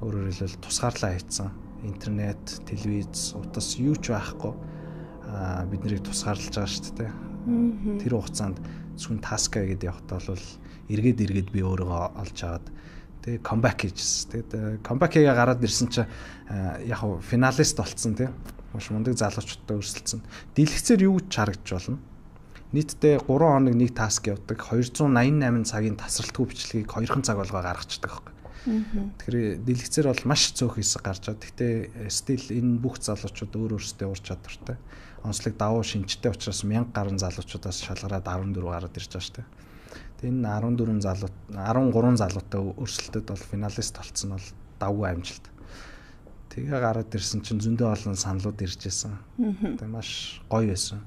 Өөрөөр хэлбэл тусгаарлаа хийцэн. Интернет, телевиз, утас юу ч байхгүй бид нарыг тусгаарлаж байгаа шүү дээ. Тэр хугацаанд зөвхөн таска гэдэг явахтаа бол эргээд би өөрийгөө олж аваад тэгээ comeback хийжсэн. Тэгээд comeback хийгээ гараад ирсэн чинь яг хуу финалист болцсон тийм. Маш мундаг залуучуудтай өрсөлдсөн. Дэлгэцээр юу ч харагдж болно. Нийтдээ 3 хоног нэг таск явдаг. 288 цагийн тасралтгүй бичлэгийг 2 цаг болгоо гаргацдаг байхгүй. Тэгэхээр дэлгэцээр бол маш цөөх хэсэг гарч байгаа. Гэхдээ стил энэ бүх залуучууд өөрсдөө ур чадвартай. Онцлог давуу шинжтэй учраас 1000 гаруй залуучуудаас шалгараад 14 гараад ирж байгаа шүү дээ. Тэгээ энэ 13 залуутай өрсөлдөд бол финалист болцсон бол давгүй амжилт. Тэгээ гараад ирсэн чинь зөндөө олон саналууд ирж байсан. Тэгээ маш гоё байсан.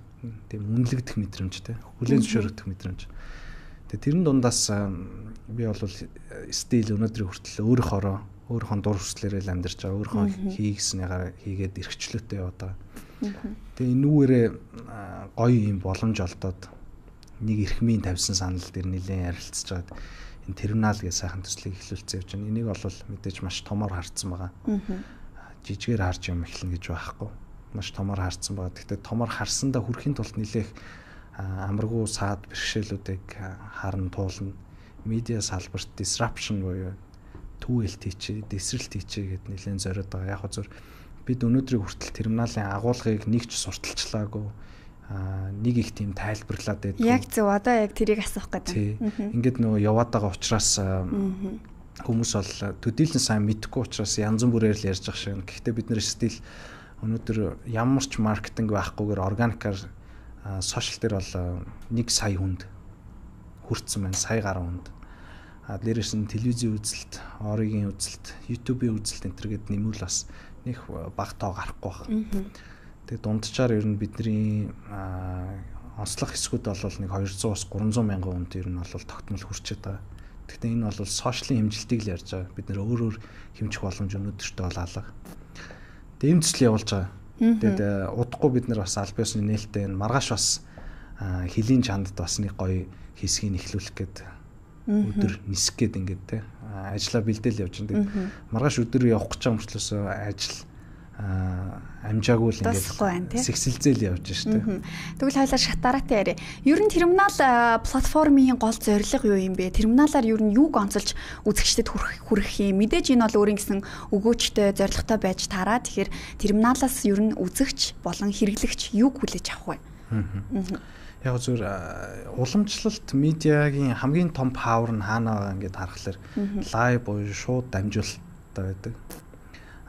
Тийм үнэлэгдэх мэдрэмжтэй. Хүлээн зөвшөөрөх мэдрэмж. Тэгээ тэрэн дундаас би бол стил өнөөдрийн хүртэл өөрийнхөө дур хүслээрээ л амьдарч байгаа. Өөрийнхөө хийгснийгаар хийгээд эрхчлөөтэй яваад байгаа. Тэгээ энүүгээрээ гоё юм боломж олдоод нэг эрхмийн тавьсан санал дээр нэлээд ярилцж байгаад энэ терминал гэж сайхан төслийг эхлүүлсэн явж байна. Энийг бол мэдээж маш томоор харцсан байгаа. Жижигээр харж юм эхлэн гэж байхгүй. маш томор харсан байгаа. Гэхдээ томор харсандаа хүрэхийн тулд нэлээх амаргүй саад бэрхшээлүүдийг харна туулна. Медиа салбарт disruption буюу түүэлт хийчээ, дэсрэлт хийчээ гэд нэлээд зориод байгаа. Яг зөв бид өнөөдрийг хүртэл терминалын агуулгыг нэгч сурталчлаагүй нэг их тийм тайлбарлаад байдаг. Яг зөв одоо яг тэрийг асуух гэдэг. Ингээд нөгөө яваад байгаа учраас хүмүүс бол төдийлөн сайн мэдэхгүй учраас янз бүрээр л ярьж байгаа шиг. Гэхдээ бид нэр стил өнөөдөр ямар ч маркетинг байхгүйгээр органикаар сошиал дээр бол 1 сая хүнд хүрсэн байна. Сая гаруй хүнд. Дээрээс нь телевизийн үзэлт, оргийн үзэлт, YouTube-ийн үзэлт энэ төр гэд нэмвэл бас нэг бага тоо гарахгүй байна. Тэгээ дунджаар ер нь бидний онцлог хэсгүүд бол нэг 200-аас 300 мянган хүнд ер нь бол тогтмол хүрчээд байгаа. Гэхдээ энэ бол сошиалын хэмжилтийг л ярьж байгаа. Бид нэр өөрөөр хэмжих боломж өнөөдөртөө бол алга. Тэгээ эм төсөл явуулж байгаа. Тэгээд удахгүй бид нар бас аль биесны нээлттэй маргааш бас хөлийн чандд бас нэг гоё хэсгийг эхлүүлэх гээд өдөр нисэх гээд ингээд те ажиллаа бэлдээл явж байгаа. Маргааш өдөр явах гэж байгаа мөртлөөс ажил амжаагүй л ингээд сэгсэлзэл явж штэ. Тэгвэл хоёлаа шатараатай яриа. Ер нь терминал платформын гол зорилго юу юм бэ? Терминалаар ер нь юуг онцолж үзэгчдэд хүргэх юм? Мэдээж энэ бол өөрийн гэсэн өгөөчтэй зорилготой байж таараа. Тэгэхээр терминалаас ер нь үзэгч болон хэрэглэгч юуг хүлээж авах вэ? Яг зөв уламжлалт медиагийн хамгийн том павер нь хаана байгаа ингээд харахаар лайв буюу шууд дамжуулалттай байдаг.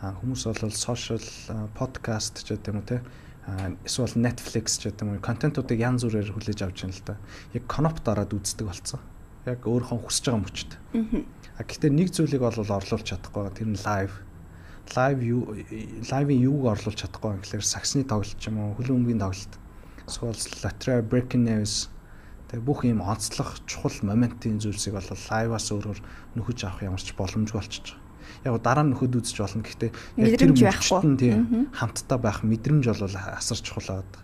Хүмүүс бол сошиал подкаст ч гэдэг юм уу те эсвэл Netflix ч гэдэг юм уу контентуудыг янз бүрээр хүлээж авч байна л да. Яг коноп дараад үздэг болсон. Яг өөрийнхөө хүсэж байгаа мөчд. Гэхдээ нэг зүйлийг бол орлуулж чадахгүй. Тэр нь лайв. Лайвын юуг орлуулж чадахгүй юм гэхээр саксны тоглолт ч юм уу хөлөө өмгийн тоглолт. Эсвэл лотера breaking news тэгээ бүх юм онцлог чухал моментын зүйлсийг бол лайваас өөрөөр нөхөж авах ямар ч боломжгүй болчихж байгаа. Яг дараа нь нөхөд үзэж болно. Гэхдээ яг тэр мөчтөн тийм хамтдаа байх мэдрэмж бол асар чухал байдаг.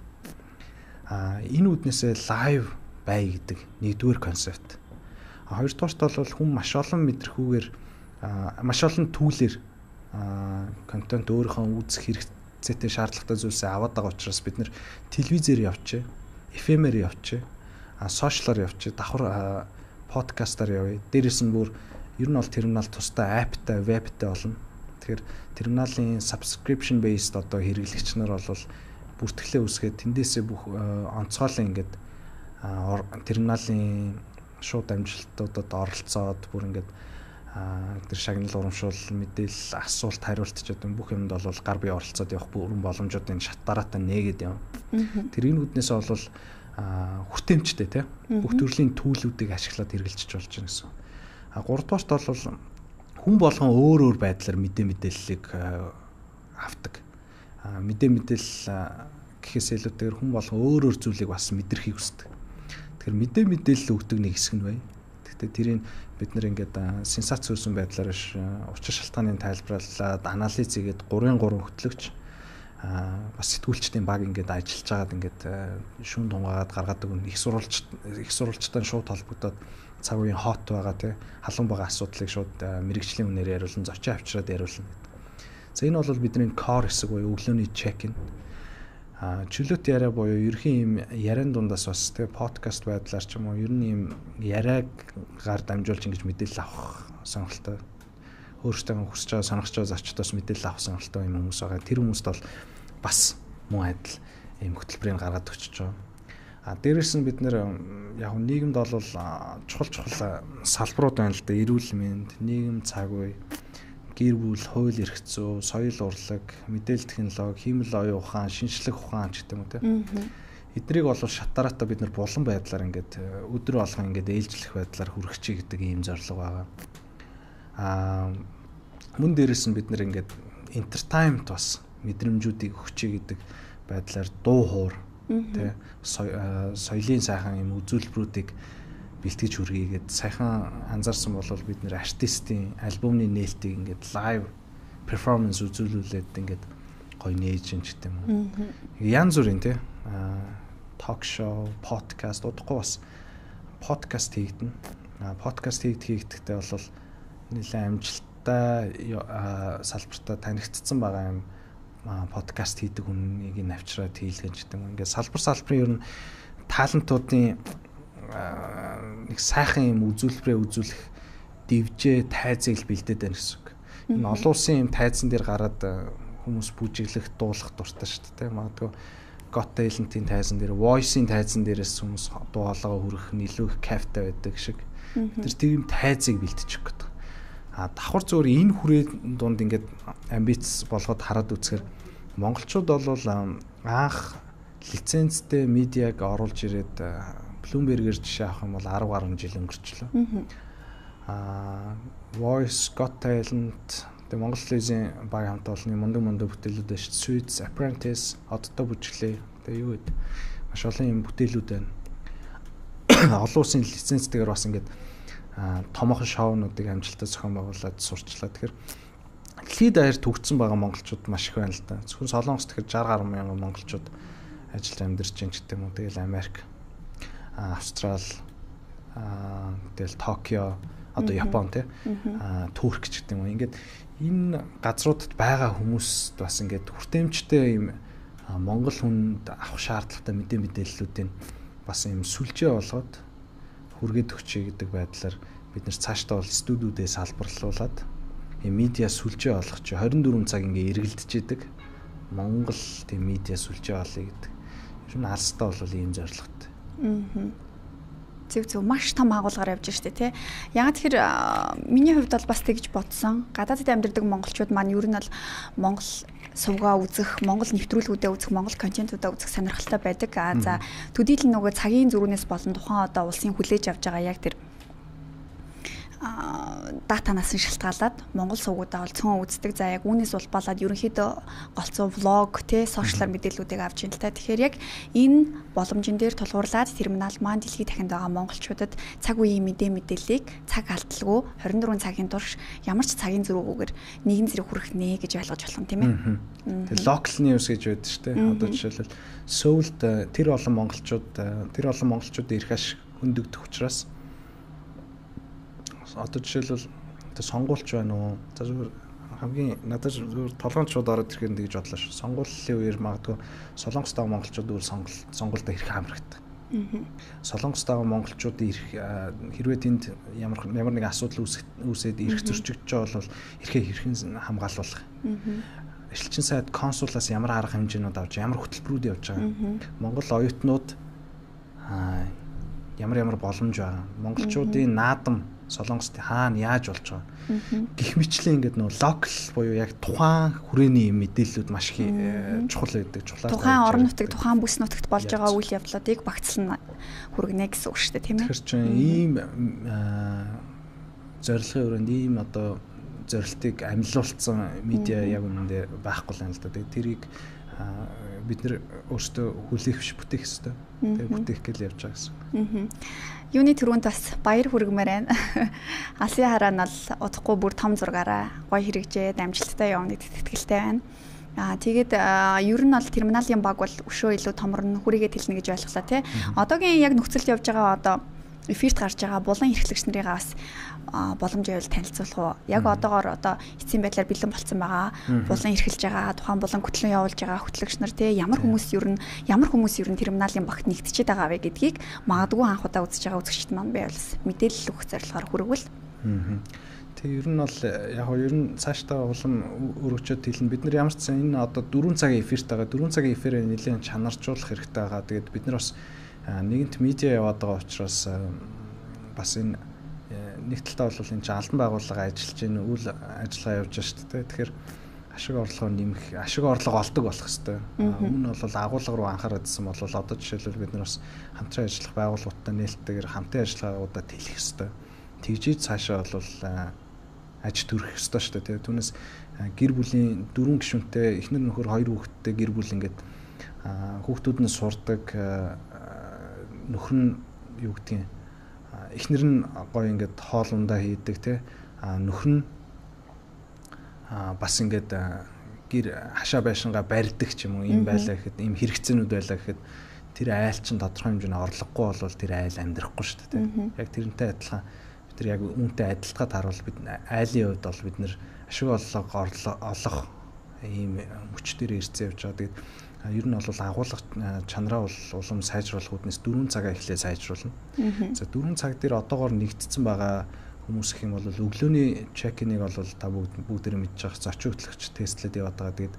Энэ үднээсээ лайв бай гэдэг нэгдүгээр концепт. Хоёрдугаарт бол хүн маш олон мэдрхүүгээр маш олон түүлээр контент өөрийнхөө үзэх хэрэгцээтэй шаардлагатай зүйлсээ аваад байгаа учраас бид нэр телевизээр явчээ, FM-ээр явчээ, сошиалаар явчээ, давхар подкастаар явъя. Дээрээс нь бүр ер нь бол терминал тусдаа аптай, вебтэй болно. Тэгэхээр терминалын subscription based одоо хэрэглэгч нар бол бүртгэлээ үсгээд тэндээсээ бүх онцгойлон ингээд терминалын шууд амжилтуудад оролцоод бүр ингээд тэр шагнал урамшуул мэдээлэл асуулт хариулт ч гэдэг бүх юмд бол гар бие оролцоод явах бүрэн боломжуудын шатдараатай нээгээд явна. Тэр энэ үднээс бол хүртээмжтэй тийм бүх төрлийн төлөвүүдийг ашиглаад хэрэгжилж болж байна гэсэн. Гуравдугаарт бол хүн болгон өөр байдлаар мэдээллийг авдаг. Мэдээлэл гэхээс илүүтэйгээр хүн болгон өөр зүйлийг бас мэдрэхийг хүсдэг. Тэгэхээр мэдээлэл өгдөг нэг хэсэг нь бай. Гэхдээ тэрийг бид нэр ингээд сенсац үүсэн байдлаар учир шалтгааныг тайлбарлаад анализ хийгээд 3-3 хөтлөгч бас сэтгүүлчдийн баг ингээд ажиллаж байгаад ингээд шүүн тунгаагаад гаргадаг их сурвалжтай шууд холбогдоод цаг үеийн хот байгаа тий халуун байгаа асуудлыг шууд мэрэгжлийн үнээр яриулсан зочид авчираад яриулна гэдэг. За энэ бол бидний core хэсэг буюу өглөөний чек-ин. Чөлөөт яриа буюу ерхийн юм яриан дундаас бас тий подкаст байдлаар ч юм уу ер нь юм яриагаар дамжуулж ингэж мэдээлэл авах сонирхолтой. Өөртөө хүсэж байгаа сонирхож байгаа зочдоос мэдээлэл авах сонирхолтой юм хүмүүс байгаа. Тэр хүмүүст бол бас муу адил ийм хөтөлбөрийг гаргаад өгч байгаа. Дээрээс нь бид нэр яг нийгэмд бол чухал салбарууд байна л да. Эрүүл мэнд, нийгэм цаг үе, гэр бүл, хууль эрх зүй, соёл урлаг, мэдээлэл технологи, хиймэл оюун ухаан, шинжлэх ухаан ч гэдэг юм уу те. Эднийг бол шатараатай бид нар булан байдлаар ингээд өдөр болгон ингээд ээлжлэх байдлаар хүргэх чи гэдэг ийм зорилго байгаа. Мөн дээрээс нь бид нар ингээд entertainment бас мэдрэмжүүдийг өгч гэдэг байдлаар дуу хоор тэ соёлын сайхан юм үзүүлбэрүүдийг бэлтгэж хүргэгээд сайхан анзаарсан бол бид нэр артистийн альбомны нээлтийг ингээд лайв перформанс үзүүлүүлээд ингээд гоё нээж юм ч гэдэг юм уу. Янз бүрийн тэ ток шоу, подкаст удахгүй бас подкаст хийгдэн. Подкаст хийгдэхдээ бол нэлээд амжилттай салбартаа танигдсан байгаа юм подкаст хийдэг хүнийг навчраад хийлгэн ч гэдэг юм. Ингээд салбарын ер нь талантуудын нэг сайхан юм үзүүлбэрээ үзүүлэх дивжээ тайзыг бэлдээд байна гэсэн үг. Энэ олон улсын юм тайзан дээр гараад хүмүүс бүжиглэх, дуулах дуртай шүү дээ. Магадгүй Got Talent-ийн тайзан дээр, Voice-ийн тайзан дээрээс хүмүүс дуу хоолойгоо хүргэх илүү их кайфтай байдаг шиг. Тэр тийм тайзыг бэлтжих гэдэг. Давхар зөвөр энэ хүрээ дунд ингээд амбиц болгоод хараад үзэхээр монголчууд бол анх лицензтэй медиаг оруулж ирээд Bloomberg-ээр жишээ авах юм бол 10 гаруй жил өнгөрчлөө. Voice, Got Talent, тэгээ Монгол телевизийн баг хамт олонны мундаг бүтээлүүд байна шүү дээ. Suits, Apprentice, Одтой бүжиглээ. Тэгээ юу гэдэг маш олон юм бүтээлүүд байна. Олон улсын лицензтэйгээр бас ингээд томоохон шоунуудыг амжилттай зохион байгуулад сурчлаа. Тэгэхээр дэлхийд даяар төгссөн байгаа монголчууд маш их байна л да. Зөвхөн Солонгос тэгэхээр 60 гаруй мянган монголчууд ажиллаж амьдарч байна гэдэг юм уу. Тэгэл Америк, Австрал, тэгэл Токио, одоо Япон тий, Турк ч гэдэг юм уу. Ингээд энэ газруудад байгаа хүмүүст бас ингээд хүртээмжтэй юм монгол хүнд авах шаардлагатай мэдээллүүдийн бас юм сүлжээ болгоод хүргээд өгчээ гэдэг байдлаар бид нэр цаашдаа бол студиудээ салбарлуулад медиа сүлжээ олох чи 24 цаг ингээ эргэлдэж идэг Монгол тийм медиа сүлжээ олъё гэдэг. Ер нь алстаа бол ийм зорилготой. Зөв маш том агуулгаар явж штэ тий. Яг тэгэхээр миний хувьд бол бас тэгж бодсон. Гадаадд амьдардаг монголчууд маань ер нь бол Монгол сувгаа үзэх, Монгол нэвтрүүлгүүдэд үзэх, Монгол контентуудаа үзэх сонирхолтой байдаг. За төдийлөн нөгөө цагийн зөрүүнээс болон тухайн одоо улсын хүлээж авч байгаа яг тэр датанаас нь шалтгаалаад Монгол сувгуудаа бол цөөн үздэг. За яг үүнээс улбалаад ерөнхийдөө голцоо влог тий сошиалар мэдээллүүдийг авч ин л та. Тэгэхээр яг энэ боломжин дээр тулгуурлаад терминал маань дэлхийд дахинд байгаа монголчуудад цаг үеийн мэдээллийг цаг алдалгүй 24 цагийн турш ямар ч цагийн зөрүүгүйгээр нэгэн зэрэг хүргэх нэ гэж ойлгож болох юм тийм ээ. Тэгээ local news гэж байдаг шүү дээ. Одоо жишээлбэл Сөүлд тэр олон монголчууд ирэх ашиг хөндөгдөх учраас одоо жишээлбэл сонгуульч байна уу? За зүгээр хамгийн надад зүгээр толгоончууд ороод ирэхэд тэгж бодлоо шүү. Сонгуулийн үеэр магадгүй Солонгост байгаа монголчууд үл сонгуульд ирэх амархдаг. Солонгост байгаа монголчууд ирэх хэрвээ тэнд ямар нэг асуудал үүсээд ирэх зөрчигдөж байгаа бол ирэхээ хэрхэн хамгаалуулах. Эрчилчин сайд консулаас ямар арга хэмжээнүүд авч ямар хөтөлбөрүүд явж байгаа. Монгол оюутнууд ямар боломж байгаа. Монголчуудын наадам Солонгост хаана яаж болж байгаа. Гэх мэтлээ ингээд нөө локал буюу яг тухайн хүрээний мэдээллүүд маш их чухал байдаг. Тухайн орон нутаг, тухайн бүс нутагт болж байгаа үйл явдлуудыг багцлан хүргэнэ гэсэн үг шүү дээ, тийм ээ. Тэгэхээр чинь ийм зорилгын өрөөнд ийм одоо зорилтыг амлиулсан медиа яг үнэндээ байхгүй л юм л да. Тэгээ тэрийг бид нэр өөрсдөө хүлээх биш бүтээх хэрэгтэй. Тэгээ бүтээх гээл явж байгаа гэсэн. Юуны түрүүнд бас баяр хүргэмээр байна. Алсын хараа нь бол удахгүй бүр том зургаараа гоё хэрэгжээд амжилттай явна гэдэгт итгэлтэй байна. Тэгээд ер нь бол терминалийн баг бол өшөө илүү томорно хүрээгээ тэлнэ гэж ойлголоо тий. Одоогийн яг нөхцөлд явж байгаа одоо эфирт гарч байгаа булан эрхлэгч нарыгаа бас боломжтой байл танилцуулах уу? Яг одоогоор одоо эцсийн байдлаар бэлэн болцсон байгаа. Булан эрхэлж байгаа, тухайн булан хөтлөн явуулж байгаа хөтлөгч нар те ямар хүмүүс ер нь терминалийн багт нэгтчихэд байгаа вэ гэдгийг магадгүй анх удаа үзэж байгаа үзэгчд маань байвал мэдээлэл өгөх зорилгоор хүргвэл. Тэг ер нь бол ер нь цаашдаа улам өргөжөд хэлнэ. Бид нар ямар ч сан энэ одоо 4 цагийн эфирт байгаа. 4 цагийн эфирээ нэлээд чанаржуулах хэрэгтэй байгаа. Тэгээд бид нар бас нэгэнт медиа яваад байгаа учраас бас энэ нэг талдаа бол энэ албан байгууллага ажиллаж байна, үйл ажиллагаа явж байгаа шүү дээ. Тэгэхээр ашиг орлогоо нэмэх, ашиг орлого олдог болох хэрэгтэй. Өмнө нь бол агуулга руу анхаараадсэн бол одоо жишээлбэл бид нар бас хамтран ажиллах байгууллагуудтай нээлттэйгээр хамтын ажиллагааудаа тэлэх хэрэгтэй. Тэгжиж цаашаа бол аж төрөх хэрэгтэй шүү дээ. Түүнээс гэр бүлийн 4 гишүүнтэй эхнэр нөхөр 2 хүүхэдтэй гэр бүл ингээд хүүхдүүд нь сурдаг, нөхөр нь юу гэдгийг эхнэр нь гоё ингээд хоол ундаа хийдэг те, нөхөр нь бас ингээд гэр хашаа байшингаа барьдаг ч юм уу, юм байлаа гэхэд, ийм хэрэгцээнүүд байлаа гэхэд тэр айл чинь тодорхой хэмжээний орлогогүй болвол тэр айл амьдрахгүй шүү дээ. Яг тэрнтэй адилхан бид нар яг үүнтэй адилтгаад харуул бид айлын хувьд бол бид нар ашиг олох ийм мөчтөр ирцээ явж байгаа. Тэгээд ер нь бол агуулга чанараа бол улам сайжруулах үүднээс 4 цагаа эхлээ сайжруулна. За 4 цаг дээр одоогоор нэгдсэн байгаа хүмүүс гэх юм бол өглөөний чек-иныг бол та бүгдээрээ мэдж байгаа зочин хөтлөгч тестлээд яваад байгаа. Тэгээд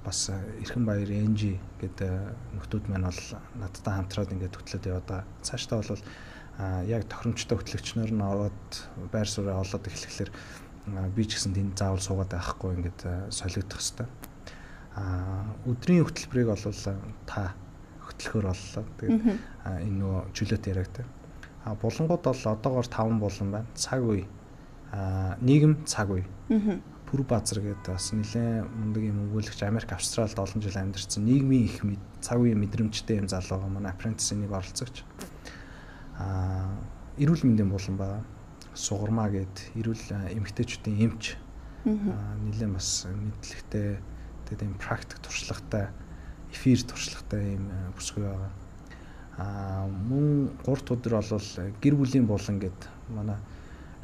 бас Эрхэн Баяр NG гэдэг нөхдүүд маань бол надтай хамтраад ингээд хөтлөөд яваад байгаа. Цаашдаа бол яг тохиромжтой хөтлөгчнөр нь ороод байр сууриа олоод эхлэхлээр би ч гэсэн тэнд заавал суугаад байхгүй ингээд солигдох хэвээр. Өдрийн хөтөлбөрийг бол та хөтлөхөр боллоо. Тэгээд энэ нөө чөлөөт яригтай. Булангууд бол одоогоор 5 булан байна. Цаг үе, нийгэм цаг үе. Пүр базар гэдэг бас нэлээд мундаг юм өгүүлэгч Америк, Австралид олон жил амьдарсан нийгмийн их цаг үеийн мэдрэмжтэй юм залуу манай апрентисийн нэг оролцогч. Эрүүл мэндийн булан байгаа. Сугармаа гэд эрүүл эмэгтэйчүүдийн эмч нэлээд бас мэдлэгтэй тэгээд ийм практик туршлагатай эфир туршлагатай ийм бүсгүй байгаа. Мөн 3 өдөр бол гэр бүлийн булан гэд манай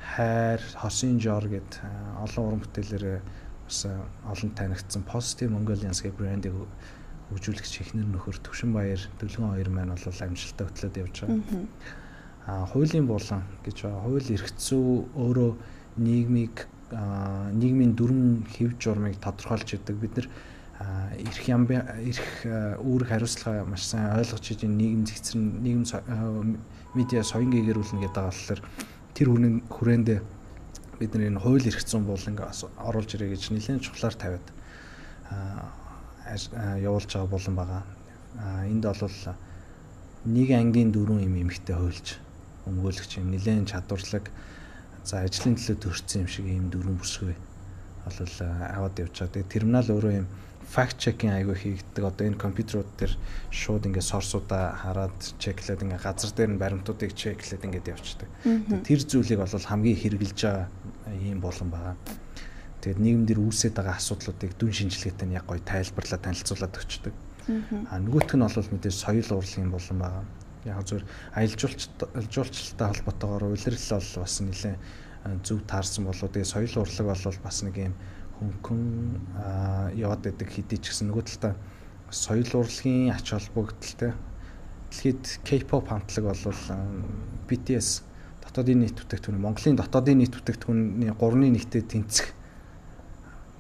хайр, хосын жор гэд олон уран бүтээлээр бас олон танигдсан Positive Mongolians гэх брендийг хөгжүүлэгч эхнэр нөхөр Төвшин Баяр, Дөлгөн хоёр маань бол амжилттай хөтлөөд явж байгаа. Хуулийн булан гэж байгаа. Хууль эрх зүй өөрөө нийгмийн дүрм хэв журмыг тодорхойлж идэг. Бид нар эрх үүрэг хариуцлага маш сайн ойлгож иж нийгэм зэгцэрн нийгэм медиа соён гээгэрүүлнэ гэдэг болохоор тэр хүрээндээ бид нар энэ хууль эрх зүйн буланг оруулж ирээ гэж нэлээд чухлаар тавиад явуулж байгаа булан байгаа. Энд бол нэг ангийн 4 юм эмэгтэй хуульч өмгөөлөгч юм нэлээд чадварлаг за ажлын төлөө төрсэн юм шиг ийм 4 бүсгүй бол аваад явж байгаа. Тэгээ терминал өөрөө юм факт чекинг аягүй хийгддэг. Одоо энэ компьютерууд дээр шууд ингээд сорсуудаа хараад чеклээд ингээд газар дээр нь баримтуудыг чеклээд ингээд явчихдаг. Тэр зүйлийг бол хамгийн хэрэгжилж байгаа ийм болон байгаа. Тэгээд нийгэм дээр үүсээд байгаа асуудлуудыг дүн шинжилгээтэй нь яг гоё тайлбарлаад танилцуулаад өгчдөг. Нөгөөх нь бол мэдээж соёл урлагийн болон байгаа. Яг зөв аялал жуулчлалтай холбоотойгоор улирал бол бас нэлээд зөв таарсан болоо. Тэгээ соёл урлаг бол бас нэг юм хөнгөн яваад байдаг хэдий ч гэсэн нөгөө талдаа соёл урлагийн ач холбогдолтой. Дэлхийд K-pop хамтлаг бол BTS дотоодын нийт бүтээгдэхүүн Монголын дотоодын нийт бүтээгдэхүүний 3-ны 1-тэй тэнцэх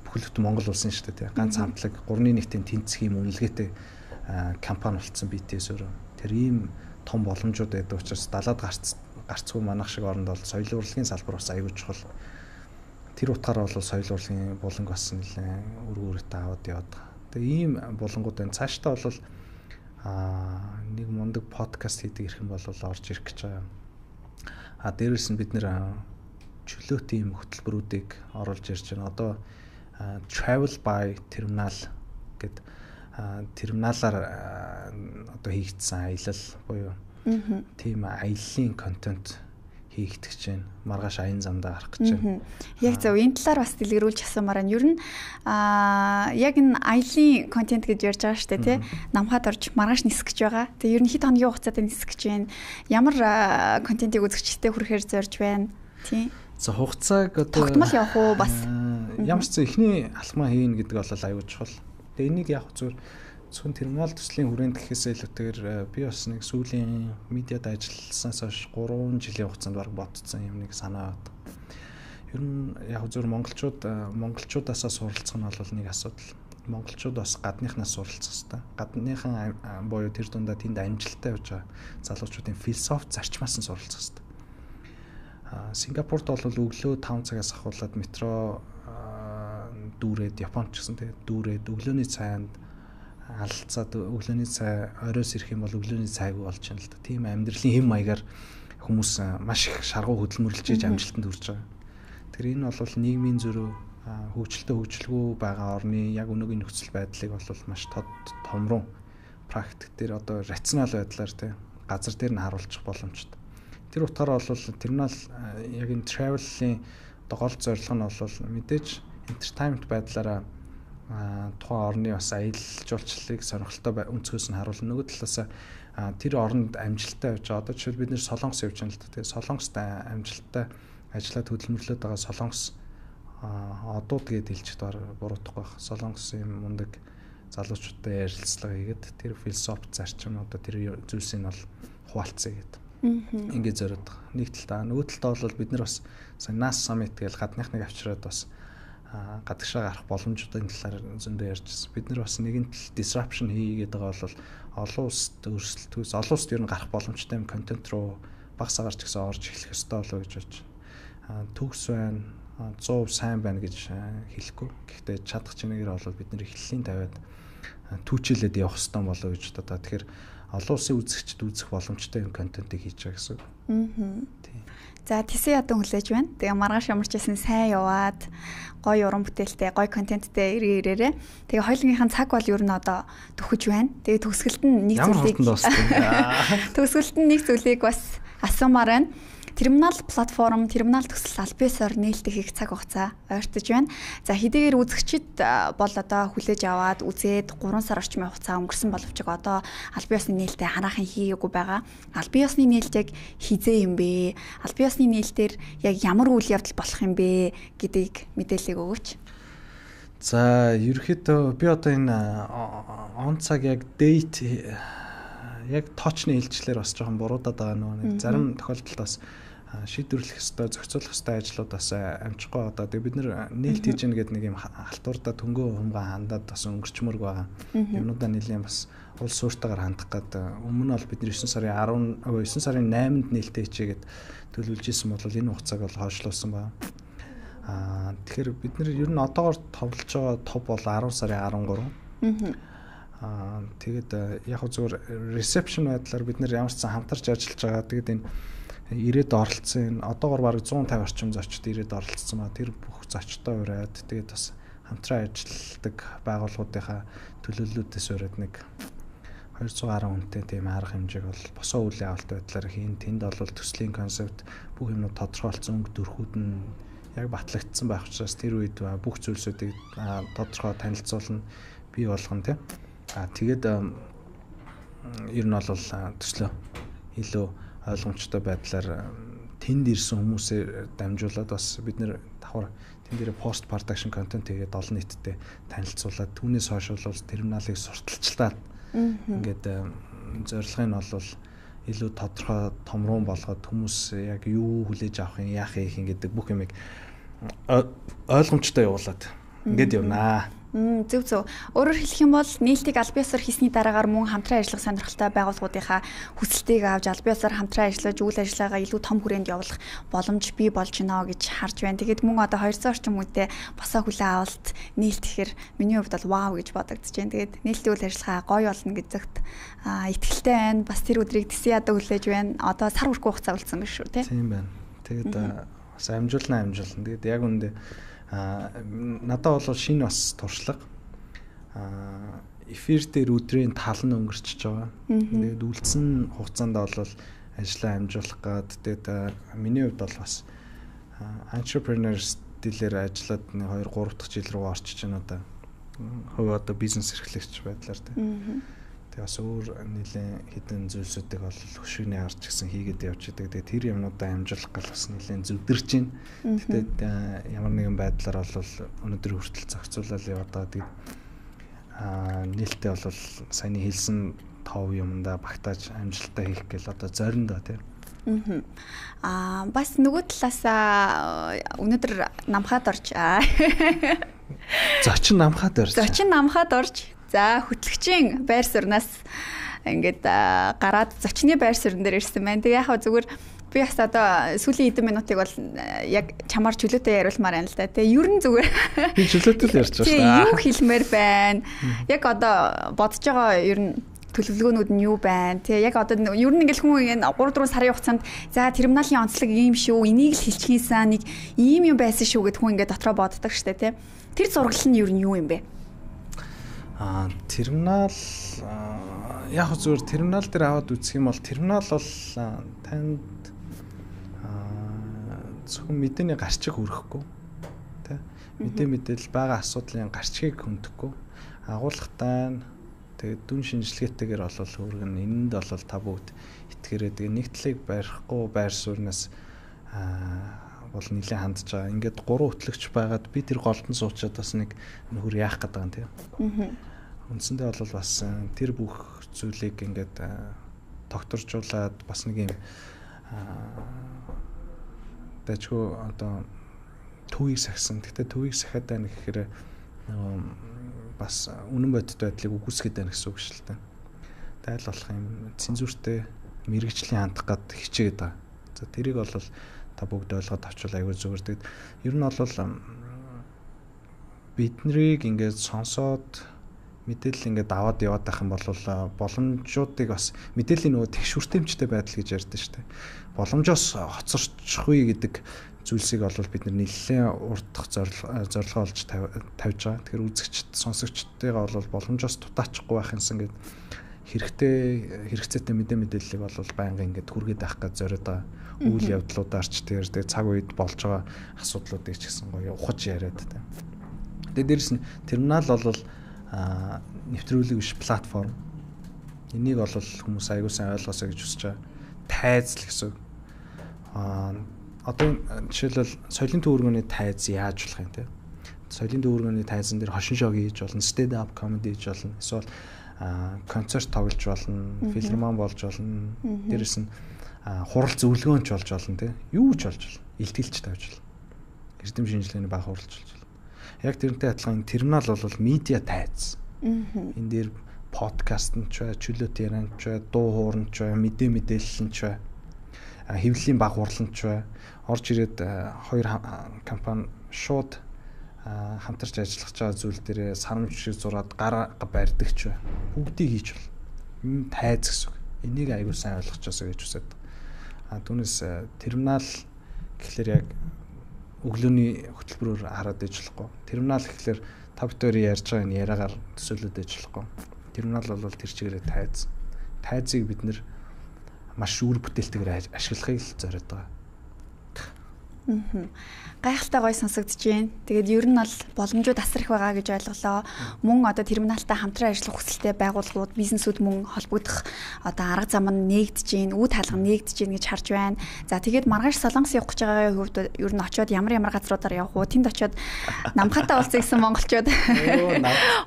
бүхэл бүтэн Монгол улсын шүү дээ. Ганц хамтлаг 3-ны 1-тэй тэнцэх юм үнэлгээтэй компани болцсон BTS өөрөө. Тэр ийм том боломжууд байдаг учраас далаад гарцгүй манах шиг оронд бол соёлын урлагийн салбар бас аягүй чухал. Тэр утгаараа бол соёлын урлагийн буланг бас нэлээд өргөөрөйтэй аваад яваад байгаа. Тэгээ ийм булангууд байна. Цаашдаа бол нэг мундаг подкаст хийдэг ирэх юм бол орж ирэх гэж байгаа. Дээрээс нь бид нэр чөлөөт ийм хөтөлбөрүүдийг оруулж ирж байна. Одоо Travel by Terminal гэдэг терминалаар одоо хийгдсэн аялал буюу тийм аяллаа контент хийгдэж байна. Маргааш аян замдаа гарах гэж байна. Яг зөв энэ талаар бас дэлгэрүүлж асуумаар байна. Ер нь яг энэ аяллаа контент гэж ярьж байгаа шүү дээ, тий. Намхад орж маргааш нисэх гэж байгаа. Тэгээ ер нь хэд хоногийн хугацаанд нисэх гэж байна. Ямар контентийг үзэгчтэй хүрэхээр зорж байна, тий. За хугацааг одоо тогтмол явах уу бас ямар ч ихний алхмаа хийн гэдэг бол аюул чухал. Тэгээ энийг яг зөвхөн терминал төслийн хүрээнд гэхээсээ илүүтэйгээр би бас нэг сүүлийн медиад ажилласнаас хойш 3 жилийн хугацаанд баг бодсон юм нэг санаа бод. Ер нь яг зөв монголчуудаас суралцах нь бол нэг асуудал. Монголчууд бас гадныхнаас суралцах хэрэгтэй. Гадныхан буюу тэр дундаа тэнд амжилттай явж байгаа залуучуудын философи зарчмаас нь суралцах хэрэгтэй. Сингапурт бол өглөө 5 цагаас ахуулаад метро дүүрээд Японд ч гэсэн тэгээ дүүрээд өглөөний цайнд алцаад өглөөний цай оройс ирэх юм бол өглөөний цайг болж байна л да. Тийм амьдралын хэм маягаар хүмүүс маш их шаргуу хөдөлмөрлөж иж амжилтанд хүрч байгаа. Тэгэхээр энэ бол нийгмийн зөрүү хөгжилтэй байгаа орны яг өнөөгийн нөхцөл байдлыг бол маш томрон практик дээр одоо рационал байдлаар тий газар дээр нь харуулчих боломжтой. Тэр утгаараа бол терминал яг энэ travel-ийн гол зорилго нь бол мэдээж entertainment байдлаараа тухайн орны бас аялал жуулчлалыг сонирхолтой өнцгөөс нь харуулна. Нөгөө талаас тэр оронд амжилттай явж байгаа. Одоо жишээл бид нэр Солонгос явж байгаа л да. Тэгээ Солонгост амжилттай ажиллаад хөдөлмөрлөд байгаа Солонгос одууд гээд хэлж буруутахгүй байх. Солонгосын мундаг залуучуудтай ярилцлага хийгээд тэр философи зарчим одоо тэр зүйлсийг бол хуваалцъя гэдэг. Ингээд зориод байгаа. Нэг талдаа нөгөө талдаа бол бид нар бас NAS Summit гэж гадныхныг авчираад бас гадагшаа гарах боломжуудын талаар зөндөө ярьжсэн. Бид нар бас нэгэн тал disruption хийгээд байгаа бол олон улсад өрсөлдөхөөс олон улсад ер нь гарах боломжтой юм контент руу багс агарч гэсэн орж эхлэх ёстой болов гэж бодож байна. Төгс байна, 100% сайн байна гэж хэлэхгүй. Гэхдээ чадах чинээгээр бол бид нэр эхлэлийн тавиад түүчилээд явах ёстой болов гэж бодоо. Тэгэхээр олон улсын үзэгчд үзэх боломжтой юм контентыг хийж байгаа гэсэн. Тийм. За тэсээ ядуу хүлээж байна. Тэгээ маргааш ямарчсэн сайн яваад гоё уран бүтээлтэй, гоё контенттэй ирээрээ. Тэгээ хоёулынхын цаг бол ер нь одоо төхөж байна. Тэгээ төгсгөлд нь нэг зүйлийг бас асуумаар байна. Терминал платформ, терминал төсөл аль биесээр нээлттэй хийх цаг хугацаа ойртож байна. За хэдийгээр үзэгчид бол одоо хүлээж аваад үзээд 3 сар орчмын хугацаа өнгөрсөн боловч одоо аль биесны нээлттэй ханаахын хийгээгүй байгаа. Аль биесны нээлт яг хизээ юм бэ? Аль биесны нээлтээр яг ямар үйл явдал болох юм бэ гэдгийг мэдээлэл өгөөч. За ерөөхдөө би одоо энэ он цаг яг дейт яг точны хэлжлэр бас жоохон буруудаад байгаа нэг зарим тохиолдолд бас шийдвэрлэх ёстой, зохицуулах ёстой ажлууд бас амжихгүй одоо бид нар нээлт хийж гэнэ гэдэг нэг юм халтуурдаа төнгөө хумгаа хандаад бас өнгөрчмөрг байгаа. Юмнуудаа нэлийн бас улс сууртаагаар хандах гэдэг. Өмнө нь бол бид 9 сарын 8-нд нээлттэй хийгээд төлөвлөж исэн бол энэ хугацааг бол хойшлуулсан байна. Тэгэхээр бид нар ер нь одоогоор товлож байгаа топ бол 10 сарын 13. Тэгээд яг зүгээр reception байдлаар бид нэр ямар ч сан хамтарч ажиллаж байгаа. Тэгээд энэ ирээд оролцсон одоогоор бараг 150 орчим зочид ирээд оролцсон ба тэр бүх зочдтой ураад тэгээд бас хамтран ажилладаг байгууллагуудынхаа төлөөллүүдээс ураад нэг 210 хүнтэй тийм арга хэмжээг бол босоо үйл явалт байдлаар хийн. Тэнд бол төслийн концепт бүх юмнууд тодорхойлцсон өнгө дүрхүүд нь яг батлагдсан байх учраас тэр үед бүх зүйлсүүдийг тодорхой танилцуулна, бий болгоно тийм. Тэгээд ер нь бол төслөө илүү ойлгомжтой байдлаар тэнд ирсэн хүмүүсээр дамжуулаад бас бид нэр давхар тэн дээр пост production контент хийгээд олон нийтэд танилцуулаад түүнээс хойш бол терминалыг сурталчлаад ингээд зорилго нь бол илүү тодорхой томрон болгоод хүмүүс яг юу хүлээж авах юм, яах юм гэдэг бүх юмыг ойлгомжтой явуулаад ингээд явнаа. Зөв. Өөрөөр хэлэх юм бол нээлтийг аль биесээр хийсний дараагаар мөн хамтран ажиллах сонирхолтой байгууллагуудынхаа хүсэлтийг авч аль биесээр хамтран ажиллаж үйл ажиллагаагаа илүү том хүрээнд явуулах боломж бий болж гинэ гэж харж байна. Тэгээд мөн одоо 200 орчим хүнтэй босоо хүлээ авалт нээлт гэхээр миний хувьд бол вау гэж бодогдож байна. Тэгээд нээлтийн үйл ажиллагаа гоё болно гэдэгт итгэлтэй байна. Бас тэр өдрийг тэсээ ядаа хүлээж байна. Одоо сар хүрэх хугацаа үлдсэн биш үү, тийм байна. Тэгээд бас амжуулна. Тэгээд яг үндэ надад бол шинэ бас туршлага эфир дээр өдрийн тал нь өнгөрчихөж байгаа. Тэгээд үлдсэн хугацаанд бол ажлаа амжуулах гад тэгээд миний хувьд бол бас entrepreneur стилээр ажиллаад 2-3 дахь жил рүү орчиж байна одоо. Хувь одоо бизнес эрхлэгч байдлаар тийм. Тэгээд бас өөр нэлийн хэдэн зүйлсүүдийг бол хөшигний харж гисэн хийгээд явж байгаа. Тэгээд тэр юмнуудаа амжуулах гал бас нэлийн зүдэрч байна. Тэгээд ямар нэгэн байдлаар бол өнөөдөр хүртэл зохицуулаад яваад байгаа. Тэгээд нээлттэй бол саяны хэлсэн тов юмдаа багтааж амжилттай хийх гэл одоо зориндоо тийм. Бас нөгөө талаасаа өнөөдөр намхаад орж. Зочин намхаад орж. За хөтлөгчийн байр сууриас ингээд гараад зочны байр суурин дээр ирсэн байна. Тэг яг зүгээр би бас одоо сүүлийн хэдэн минутыг бол яг чамаар чөлөөтэй яриулмаар байна л да. Тэг ер нь зүгээр би чөлөөтэй ярьж байгаа шүү дээ. Юу хэлмээр байна? Яг одоо бодож байгаа ер нь төлөвлөгөөнүүд нь юу байна? Тэг яг одоо ер нь ингээл хүн 3-4 сарын хугацаанд за терминалийн онцлог ийм шүү, энийг л хэлчихсэн нэг ийм юм байсан шүү гэд хүн ингээд дотроо боддог штэ тий. Тэр зураглал нь ер нь юу юм бэ? Терминал яг зүгээр терминал дээр аваад үзэх юм бол терминал бол танд зөвхөн мэдээний гарчиг хүргэхгүй тий мэдээлэл байгаа асуудлын гарчгийг хөндөхгүй агуулгатай тэгээд дүн шинжилгээтэйгээр бол хүргэн энэнд бол та бүгд итгэрээд нэг талыг барихгүй байр сууриас бол нэлээд хандж байгаа. Ингээд 3 хөтлөгч байгаад би тэр голдон суучаад бас нэг нөхөр яах гэдэг юм тийм. Үндсэндээ бол бас тэр бүх зүйлийг ингээд тогтворжуулаад бас нэг юм дэжгүй одоо төвийг сахисан. Гэхдээ төвийг сахиад байна гэхээр бас үнэн бодит байдлыг үгүйсгээд байна гэсэн үг шүү дээ. Тайл болох юм цензуртэй мэрэгжлийн хандах гад хичээгээд байгаа. За тэрийг бол та бүгд ойлгоод авчвал аягүй зүгээр. Тэгэд ер нь бол биднийг ингээд сонсоод мэдээлэл ингээд аваад яваад байх юм бол боломжуудыг бас мэдээллийн нөгөө тэгшүртэмжтэй байдал гэж ярьдэн шүү дээ. Боломжоос хоцорчихгүй гэдэг зүйлсийг бол бид нэлээд урдах зорилгоо олж тавьж байгаа. Тэгэхээр үзэгчд, сонсогчдтойгоо бол боломжоос тутаачихгүй байх юмсан гэдэг хэрэгцээтэй мэдээллийг бол байнга ингээд хүргээд байх гэж зориод байгаа. Үйл явдлуудаарч тэгээ цаг үед болж байгаа асуудлуудыг ч гэсэн гоё ухаж яриад та. Тэгээ дээрэс нь терминал бол нэвтрүүлэг биш платформ. Энийг бол хүмүүс аягүй сайн ойлгосоо гэж хүсэж байгаа. Тайз л гэсэн. Одоо жишээлбэл соёлын төвөргөний тайз яаж болох юм те? Соёлын төвөргөний тайзан дээр хошин шог хийж болно, stand up comedy хийж болно. Эсвэл концерт тоглож болно, филармон болж болно. Дээрэс нь хурал зөвлөгөөнч болж болно те. Юу ч болж болно. Илтгэлч тавьж болно. Эрдэм шинжилгээний баг хуралж болж болно. Яг тэрнтэй адилхан терминал бол медиа тайз. Энэ дээр подкаст нь ч бай, чөлөөт ярианч бай, дуу хуурч бай, мэдээлэлч бай, хэвлэлийн баг хурланч бай. Орж ирээд хоёр компани шууд хамтарч ажиллаж байгаа зүйл дээр сарамж шиг зураад гараа барьдаг ч бай. Бүгдийг хийж бол. Энэ тайз гэсэн үг. Энийг аягүй сайн ойлгочихосоо гэж хүсэж байна. Түүнээс терминал гэхэлэр яг өглөөний хөтөлбөрөөр хараад иж болохгүй. Терминал гэхэлэр та бүхэн ярьж байгаа энэ яриагаар төсөөлөд иж болохгүй. Терминал бол тэр чигээрээ тайз. Тайзыг бид нэр маш үр бүтээлтэйгээр ашиглахыг л зориод байгаа. Гайхалтай гоё сонсогдож байна. Тэгээд ер нь бол боломжууд асар их байгаа гэж ойлголоо. Мөн одоо терминалтай хамтран ажиллах хүсэлтэй байгууллагууд, бизнесүүд мөн холбогдох одоо арга зам нь нээгдэж байна, үе хаалга нээгдэж байна гэж харж байна. За тэгээд маргааш Солонгос явах гэж байгаагийн хувьд ер нь очиод ямар газруудаар явах уу? Тэнд очиод намхатай уулзах гэсэн монголчууд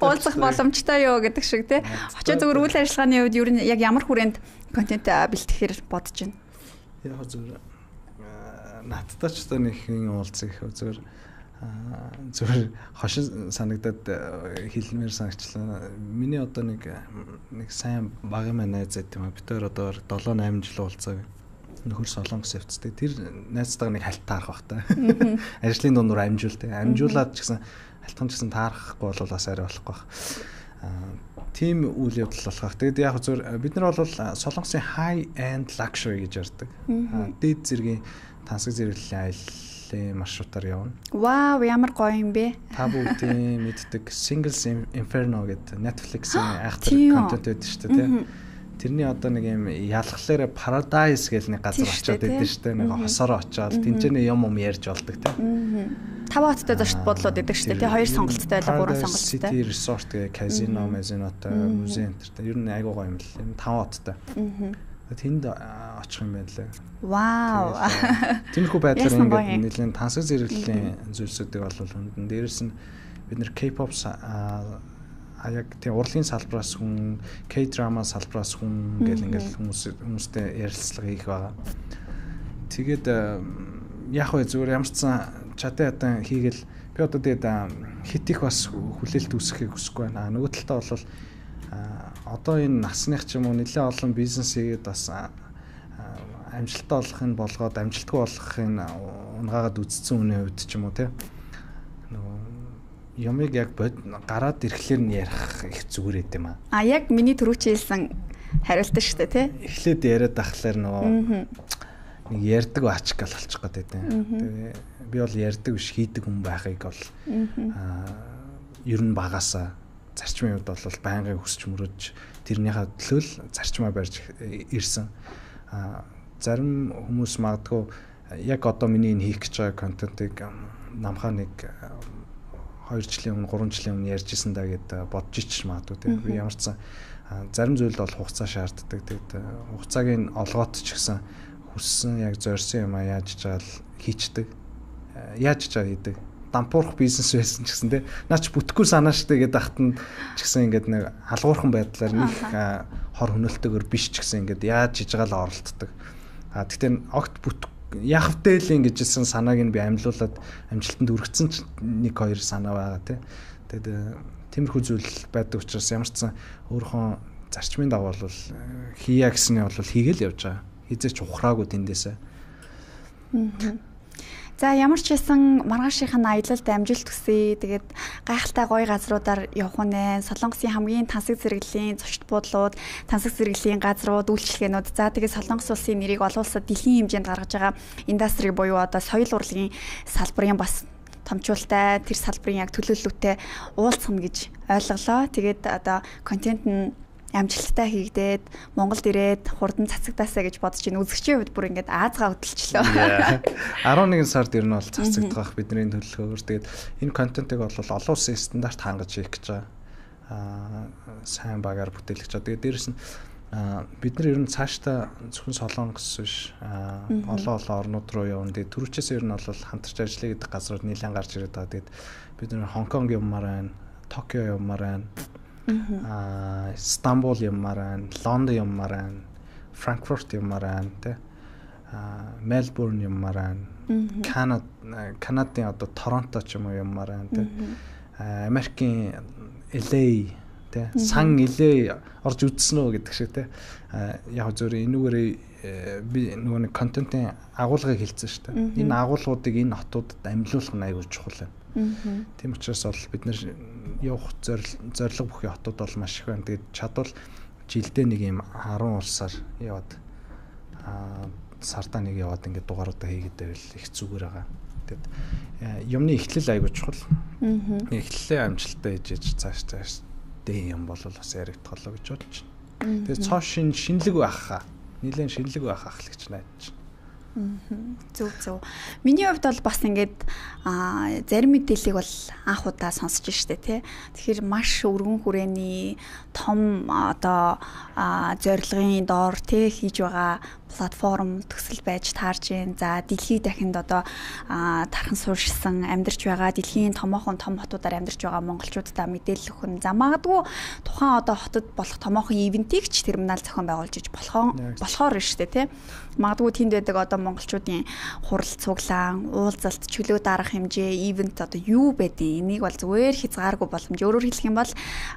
уулзах боломжтой юу гэдэг шиг тий. Очиод зөвхөн үйл ажиллагааны хувьд ер нь яг ямар хүрээнд контент бэлтгэхээр бодож байна. Яг зөв надтай ч одоо нэг хин уулзах зүгээр хошин санагдаад хэлмээр санагчлаа. Миний одоо нэг сайн багын маань найз байт юм а. Бид хоёр одоо 7-8 жил уулзаа. Нөхөр Солонгос явцдаг. Тэр найзтайгаа нэг хальт таарах бах та. Ажлын дундуур амжуулдаг. Амжуулаад ч гэсэн хальтхан ч гэсэн таарахгүй бол бас арай болохгүй бах. Тим үйл явдал болох. Тэгэд яг зөв бид нар бол Солонгосын high end luxury гэж ярьдаг. Дээд зэргийн тансаг зэрэглэлийн аяллаа маршрутаар явна. Вау, ямар гоё юм бэ? Та бүгдийн мэддэг Singles Inferno гэдэг Netflix-ийн айхтар контент байдаг шүү дээ, тийм. Тэрний одоо нэг юм ялхлаараа Paradise гэх нэг газар очиод байдаг шүү дээ. Нэг хосороо очиод тэнцэнэ юм ярьж болдог, тийм. 5 хоттой зочд бодлууд байдаг шүү дээ. 2 сонголттой байлаа, 3 сонголттой. City Resort гэх казино, мезинотой, музей энтертэй. Ер нь айгуу гоё юм л. 5 хоттой. Тэнд очих юм байна лээ. Вау. Тиймэрхүү байдлаар ингээд нэлээд тансаг зэрэглэлийн зүйлсүүдийг бол хүндэн. Дээрээс нь бид нэр K-pop яг тийм урлагийн салбараас хүн, K-drama салбараас хүн гэл ингээд хүмүүстэй ярилцлага хийх байгаа. Тэгээд яг хөө зүгээр ямар ч чадаа ятан хийгээл би одоо тэгээд хит их бас хүлээлт үүсгэхийг хүсэхгүй байна. Нөгөө талдаа бол одоо энэ насных ч юм уу нэлээд олон бизнес хийгээд бас амжилттай болохын болгоод амжилтгүй болохын унгаагаад үзсэн үнэ хувьд ч юм уу тий. Нөгөө юмыг яг гараад ирэхлээр нь ярих их зүгээр юм аа. Яг миний түрүүч хэлсэн хариулт шүү дээ тий. Эхлээд яриад ахлаар нөгөө нэг ярьдаг ачк гал болчих гээд байдیں۔ Тэгээ би бол ярьдаг биш хийдэг хүн байхыг бол ер нь багасаа зарчмын хувьд бол байнгын хүсч мөрөж тэрнийхээ төлөө л зарчмаа барьж ирсэн. Зарим хүмүүс магадгүй яг одоо миний энэ хийх гэж байгаа контентыг намхаа нэг 2 жилийн өмнө 3 жилийн өмнө ярьжсэн даа гэд бодож ич магадгүй тийм. Би ямар ч зарим зүйлд бол хугацаа шаарддаг. Тэгээд хугацааг нь олгоод ч гэсэн хүссэн яг зорьсон юм а яаж чаал хийчдэг. яаж ч хийдэг. Дампуурах бизнес байсан ч гэсэн те наач бүтэхгүй санаа штэ гэдэг ахтанд ч гэсэн ингээд нэг алгуурхан байдлаар нэг хор хөнөөлтөөр биш ч гэсэн ингээд яаж хийж байгаа л оролддог. Тэгтээ огт яах вэ л ингэжсэн санааг нь би амьлуулад амжилтанд хүргэсэн ч 1-2 санаа байгаа те. Тэгээд тиймэрхүү зүйл байдаг учраас ямар ч сан өөрийнхөө зарчмын дагуу бол хийя гэсний бол хийгээл явж байгаа. Хизээч ухраагүй тэндээсээ. За ямар ч байсан маргаашийн аялалд амжилт хүсье. Тэгээд гайхалтай гоё газруудаар явах нь Солонгосын хамгийн тансаг зэрэглэлийн зочд буудлууд, тансаг зэрэглэлийн газрууд, үйлчилгээнүүд. За тэгээд Солонгос улсын нэрийг олон улсад дэлхийн хэмжээнд гаргаж байгаа индастри буюу одоо соёл урлагийн салбарын бас томчуултай тэр салбарын яг төлөөлөлтөй уулзах гэж ойлголоо. Тэгээд одоо контент нь амжилттай хийгдээд Монголд ирээд хурдан цацагдаасаа гэж бодож ин үзэгчийн хувьд бүр ингээд аазгаа хөдөлчлөө. 11 сард ирнэ бол цацагдах бидний төлөвлөгөөр. Тэгээд энэ контентыг бол олон улсын стандарт хангаж хийх гэж байгаа. Сайн багаар бүтээлгэж байгаа. Тэгээд дээрэс нь бид нар ер нь цаашдаа зөвхөн Солонгос биш олон орнууд руу явна. Тэгээд түрүүчээс ер нь бол хамтарч ажиллая гэдэг газрууд нэлээд гарч ирээд байгаа. Тэгээд бид нар Хонконг явмаар байна, Токио явмаар байна. Стамбул явмаар байна, Лондон явмаар байна, Франкфурт явмаар байна, тэ. Мельбурн явмаар байна. Канадын одоо Торонто ч юм уу явмаар байна, тэ. Америкийн LA, тэ. Сан LA орж үзсэн үү гэдэг шиг, тэ. Яг зөвөр энүүгээр би нөгөө нэг контентын агуулгыг хэлсэн шүү дээ. Энэ агуулгуудыг энэ хотуудад амьлуулах нь аюул чухал байна. Тийм учраас бол бид нэр явах зорилго бүхий хотууд бол маш их байна. Тэгээд чадвал жилдээ нэг юм 10 улсаар яваад сардаа нэг яваад ингээд дугааруудаа хийгээд байвал их зүгээр байгаа. Тэгээд юмны эхлэл аюул чухал. Эхлэлээ амжилттай хийж цааш дээ юм бол бас яригдхолоо гэж бодож байна. Тэгээд цоо шинэлэг байх хаа. Нилээн шинэлэг байх ах л гэж найдаж байна. Зөв. Миний хувьд бол бас ингээд зарим мэдээллийг бол анх удаа сонсч штэ тий. Тэгэхээр маш өргөн хүрээний том одоо зорилгын доор тий хийж байгаа платформ төсөл байж таарж байна. За дэлхийд дахинд одоо тархан суурьшсан амьдарч байгаа дэлхийн томоохон том хотуудаар амьдарч байгаа монголчуудаа мэдээлэл өгөх нь за магадгүй тухайн одоо хотод болох томоохон ивентийг ч терминал зохион байгуулж иж болохоор шүү дээ тий. Магадгүй тэнд байдаг одоо монголчуудын хурал цуглаан, уулзалт, чөлөө дарах хэмжээ, ивент одоо юу байдیں۔ Энийг бол зүгээр хязгааргүй боломж. Өөрөөр хэлэх юм бол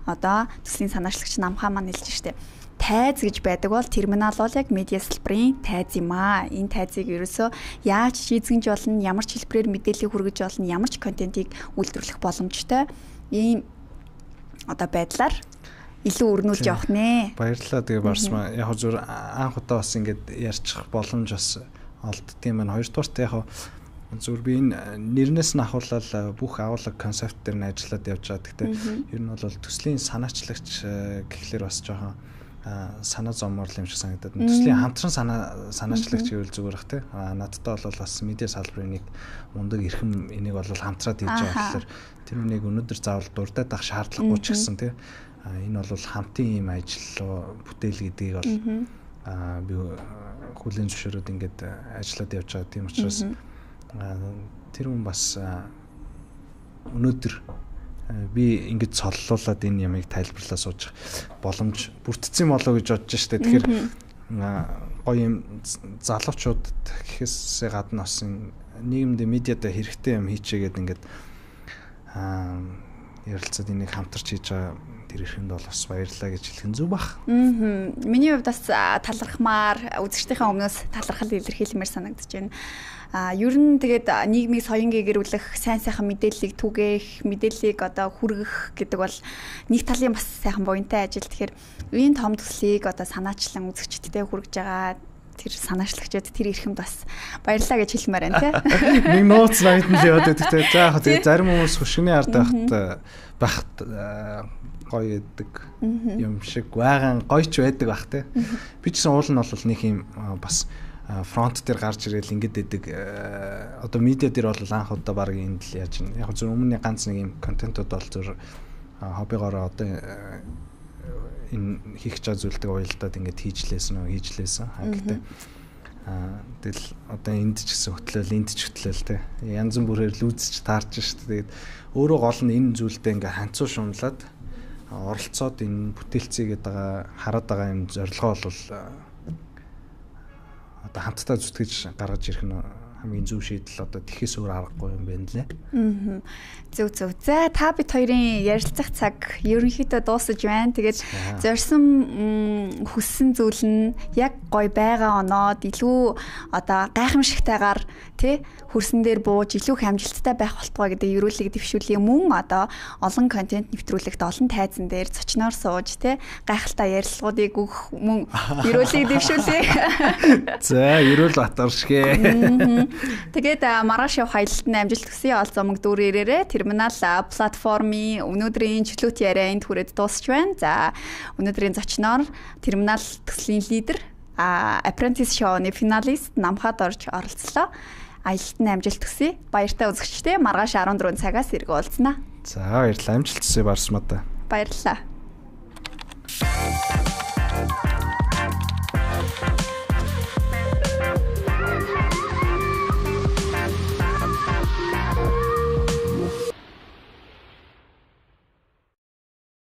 одоо төслийн санаачлагч намхаа маань хэлж штэ. Тайз гэж байдаг бол терминал бол яг медиа салбарын тайз юм аа. Энэ тайзыг ерөөсөө яаж шийдгэнж болно, ямар ч хэлбэрээр мэдээлэл хүргэж болно, ямар ч контентийг үйлдвэрлэх боломжтой. Ийм одоо байдлаар илүү өрнүүлж явах нэ. Баярлалаа. Тэгээ барсмаа. Яг зөв анх удаа бас ингэж ярьчих боломж бас олддгийм байна. Хоёрдугаарт яг зөв би энэ нэрнээс нь ахуулаад бүх агуулга концепт дээр нь ажиллаад явж байгаа. Гэхдээ ер нь бол төслийн санаачлагч гэхлээр бас жоохон санаа зоммоор юм шиг санагдаад. Төслийн хамтран санаачлагч гэвэл зүгээр бах тий. Надтай бол бас медиа салбарын нэг мундаг эрхэм энийг бол хамтраад хийж байгаа болохоор тэр үнийг өнөөдөр заавал дурдаад авах шаардлагагүй ч гэсэн тий. Энэ бол хамтын юм ажил бүтээл гэдгийг бол би хүлээн зөвшөөрөөд ингээд ажиллаад явж байгаа. Тийм учраас тэр хүн бас өнөөдөр би ингэж цоллуулад энэ ямыг тайлбарлаа сууж боломж бүрдсэн болоо гэж бодож штэ. Тэгэхээр гоё юм залуучуудад гэхээсээ гадна бас нийгэмд медиад хэрэгтэй юм хийчээгээд ингээд ярилцаад энийг хамтарч хийж байгаа тэр ихэнд бол бас баярлалаа гэж хэлэх нь зөв бах. Миний хувьд бас талархмаар үзэгчдийнхээ өмнөөс талархал илэрхийлмээр санагдаж байна. Ер нь тэгээд нийгмийг соён гэрүүлэх, сайн сайхан мэдээллийг түгээх, мэдээллийг одоо хүргэх гэдэг бол нэг талын бас сайхан буянтай ажил. Тэгэхээр энэ том төслийг одоо санаачлан үзэгчдтэй хүргэж байгаа тэр санаачлагчид тэр ихэнд бас баярлалаа гэж хэлмээр байна тий. Нэг нууц найд нь л яваад байдаг тий. За яг тэгээд зарим хүмүүс хөшгөний ард байхад гоё гэдэг юм шиг байгаан гоёч байдаг бах тий. Би ч гэсэн уул нь бол нэг юм бас фронт дээр гарч ирээл ингэдэг байдаг. Одоо медиа дээр бол анх удаа баг энд л яаж юм. Яг зөв өмнө ганц нэг юм контентууд бол зөв хоббигоор одоо энэ хийх чад зүйлдэг уялдаад ингээд хийжлээсэн. Гэхдээ Тэгэл одоо энд ч гэсэн хөтлөл, энд ч хөтлөл те. Янз бүрээр л үзэж таарч шүү дээ. Тэгээд өөрөө гол нь энэ зүйлдээ ингээ ханцуу шунлаад оролцоод энэ бүтээлцээгээд байгаа хараад байгаа юм зорилгоо бол одоо хамтдаа зүтгэж гаргаж ирэх нь хамгийн зөв шийдэл одоо тэхээс өөр аргагүй юм байна лээ. Зөв. За та бид хоёрын ярилцах цаг ерөнхийдөө дуусаж байна. Тэгээд зорьсон хүссэн зүйл нь яг гоё байгаа оноод илүү одоо гайхамшигтайгаар тий хөрсөн дээр бууж илүү их амжилттай байх болтугай гэдэг ерөөлийг дэвшүүлээ мөн одоо олон контент нэвтрүүлэгт олон тайзан дээр зочноор сууж тий гайхалтай ярилцлагуудыг өгөх мөн ерөөлийг дэвшүүлээ. За ерөөл батаршгэ. Тэгээд маргааш явах аялалтанд амжилт хүсье. Олзомог дүүр ирээрээ терминал платформын өнөөдрийн чөлөөт яриа энд хүрээд дуусч байна. За өнөөдрийн зочноор терминал төслийн лидер Apprentice Show-ны финалист Намхад орж оролцлоо. Аялалтанд амжилт хүсье. Баяртай үзэгчдээ маргааш 14 цагаас иргэ уулзнаа. За баярлалаа. Амжилт хүсье Барсмата. Баярлалаа.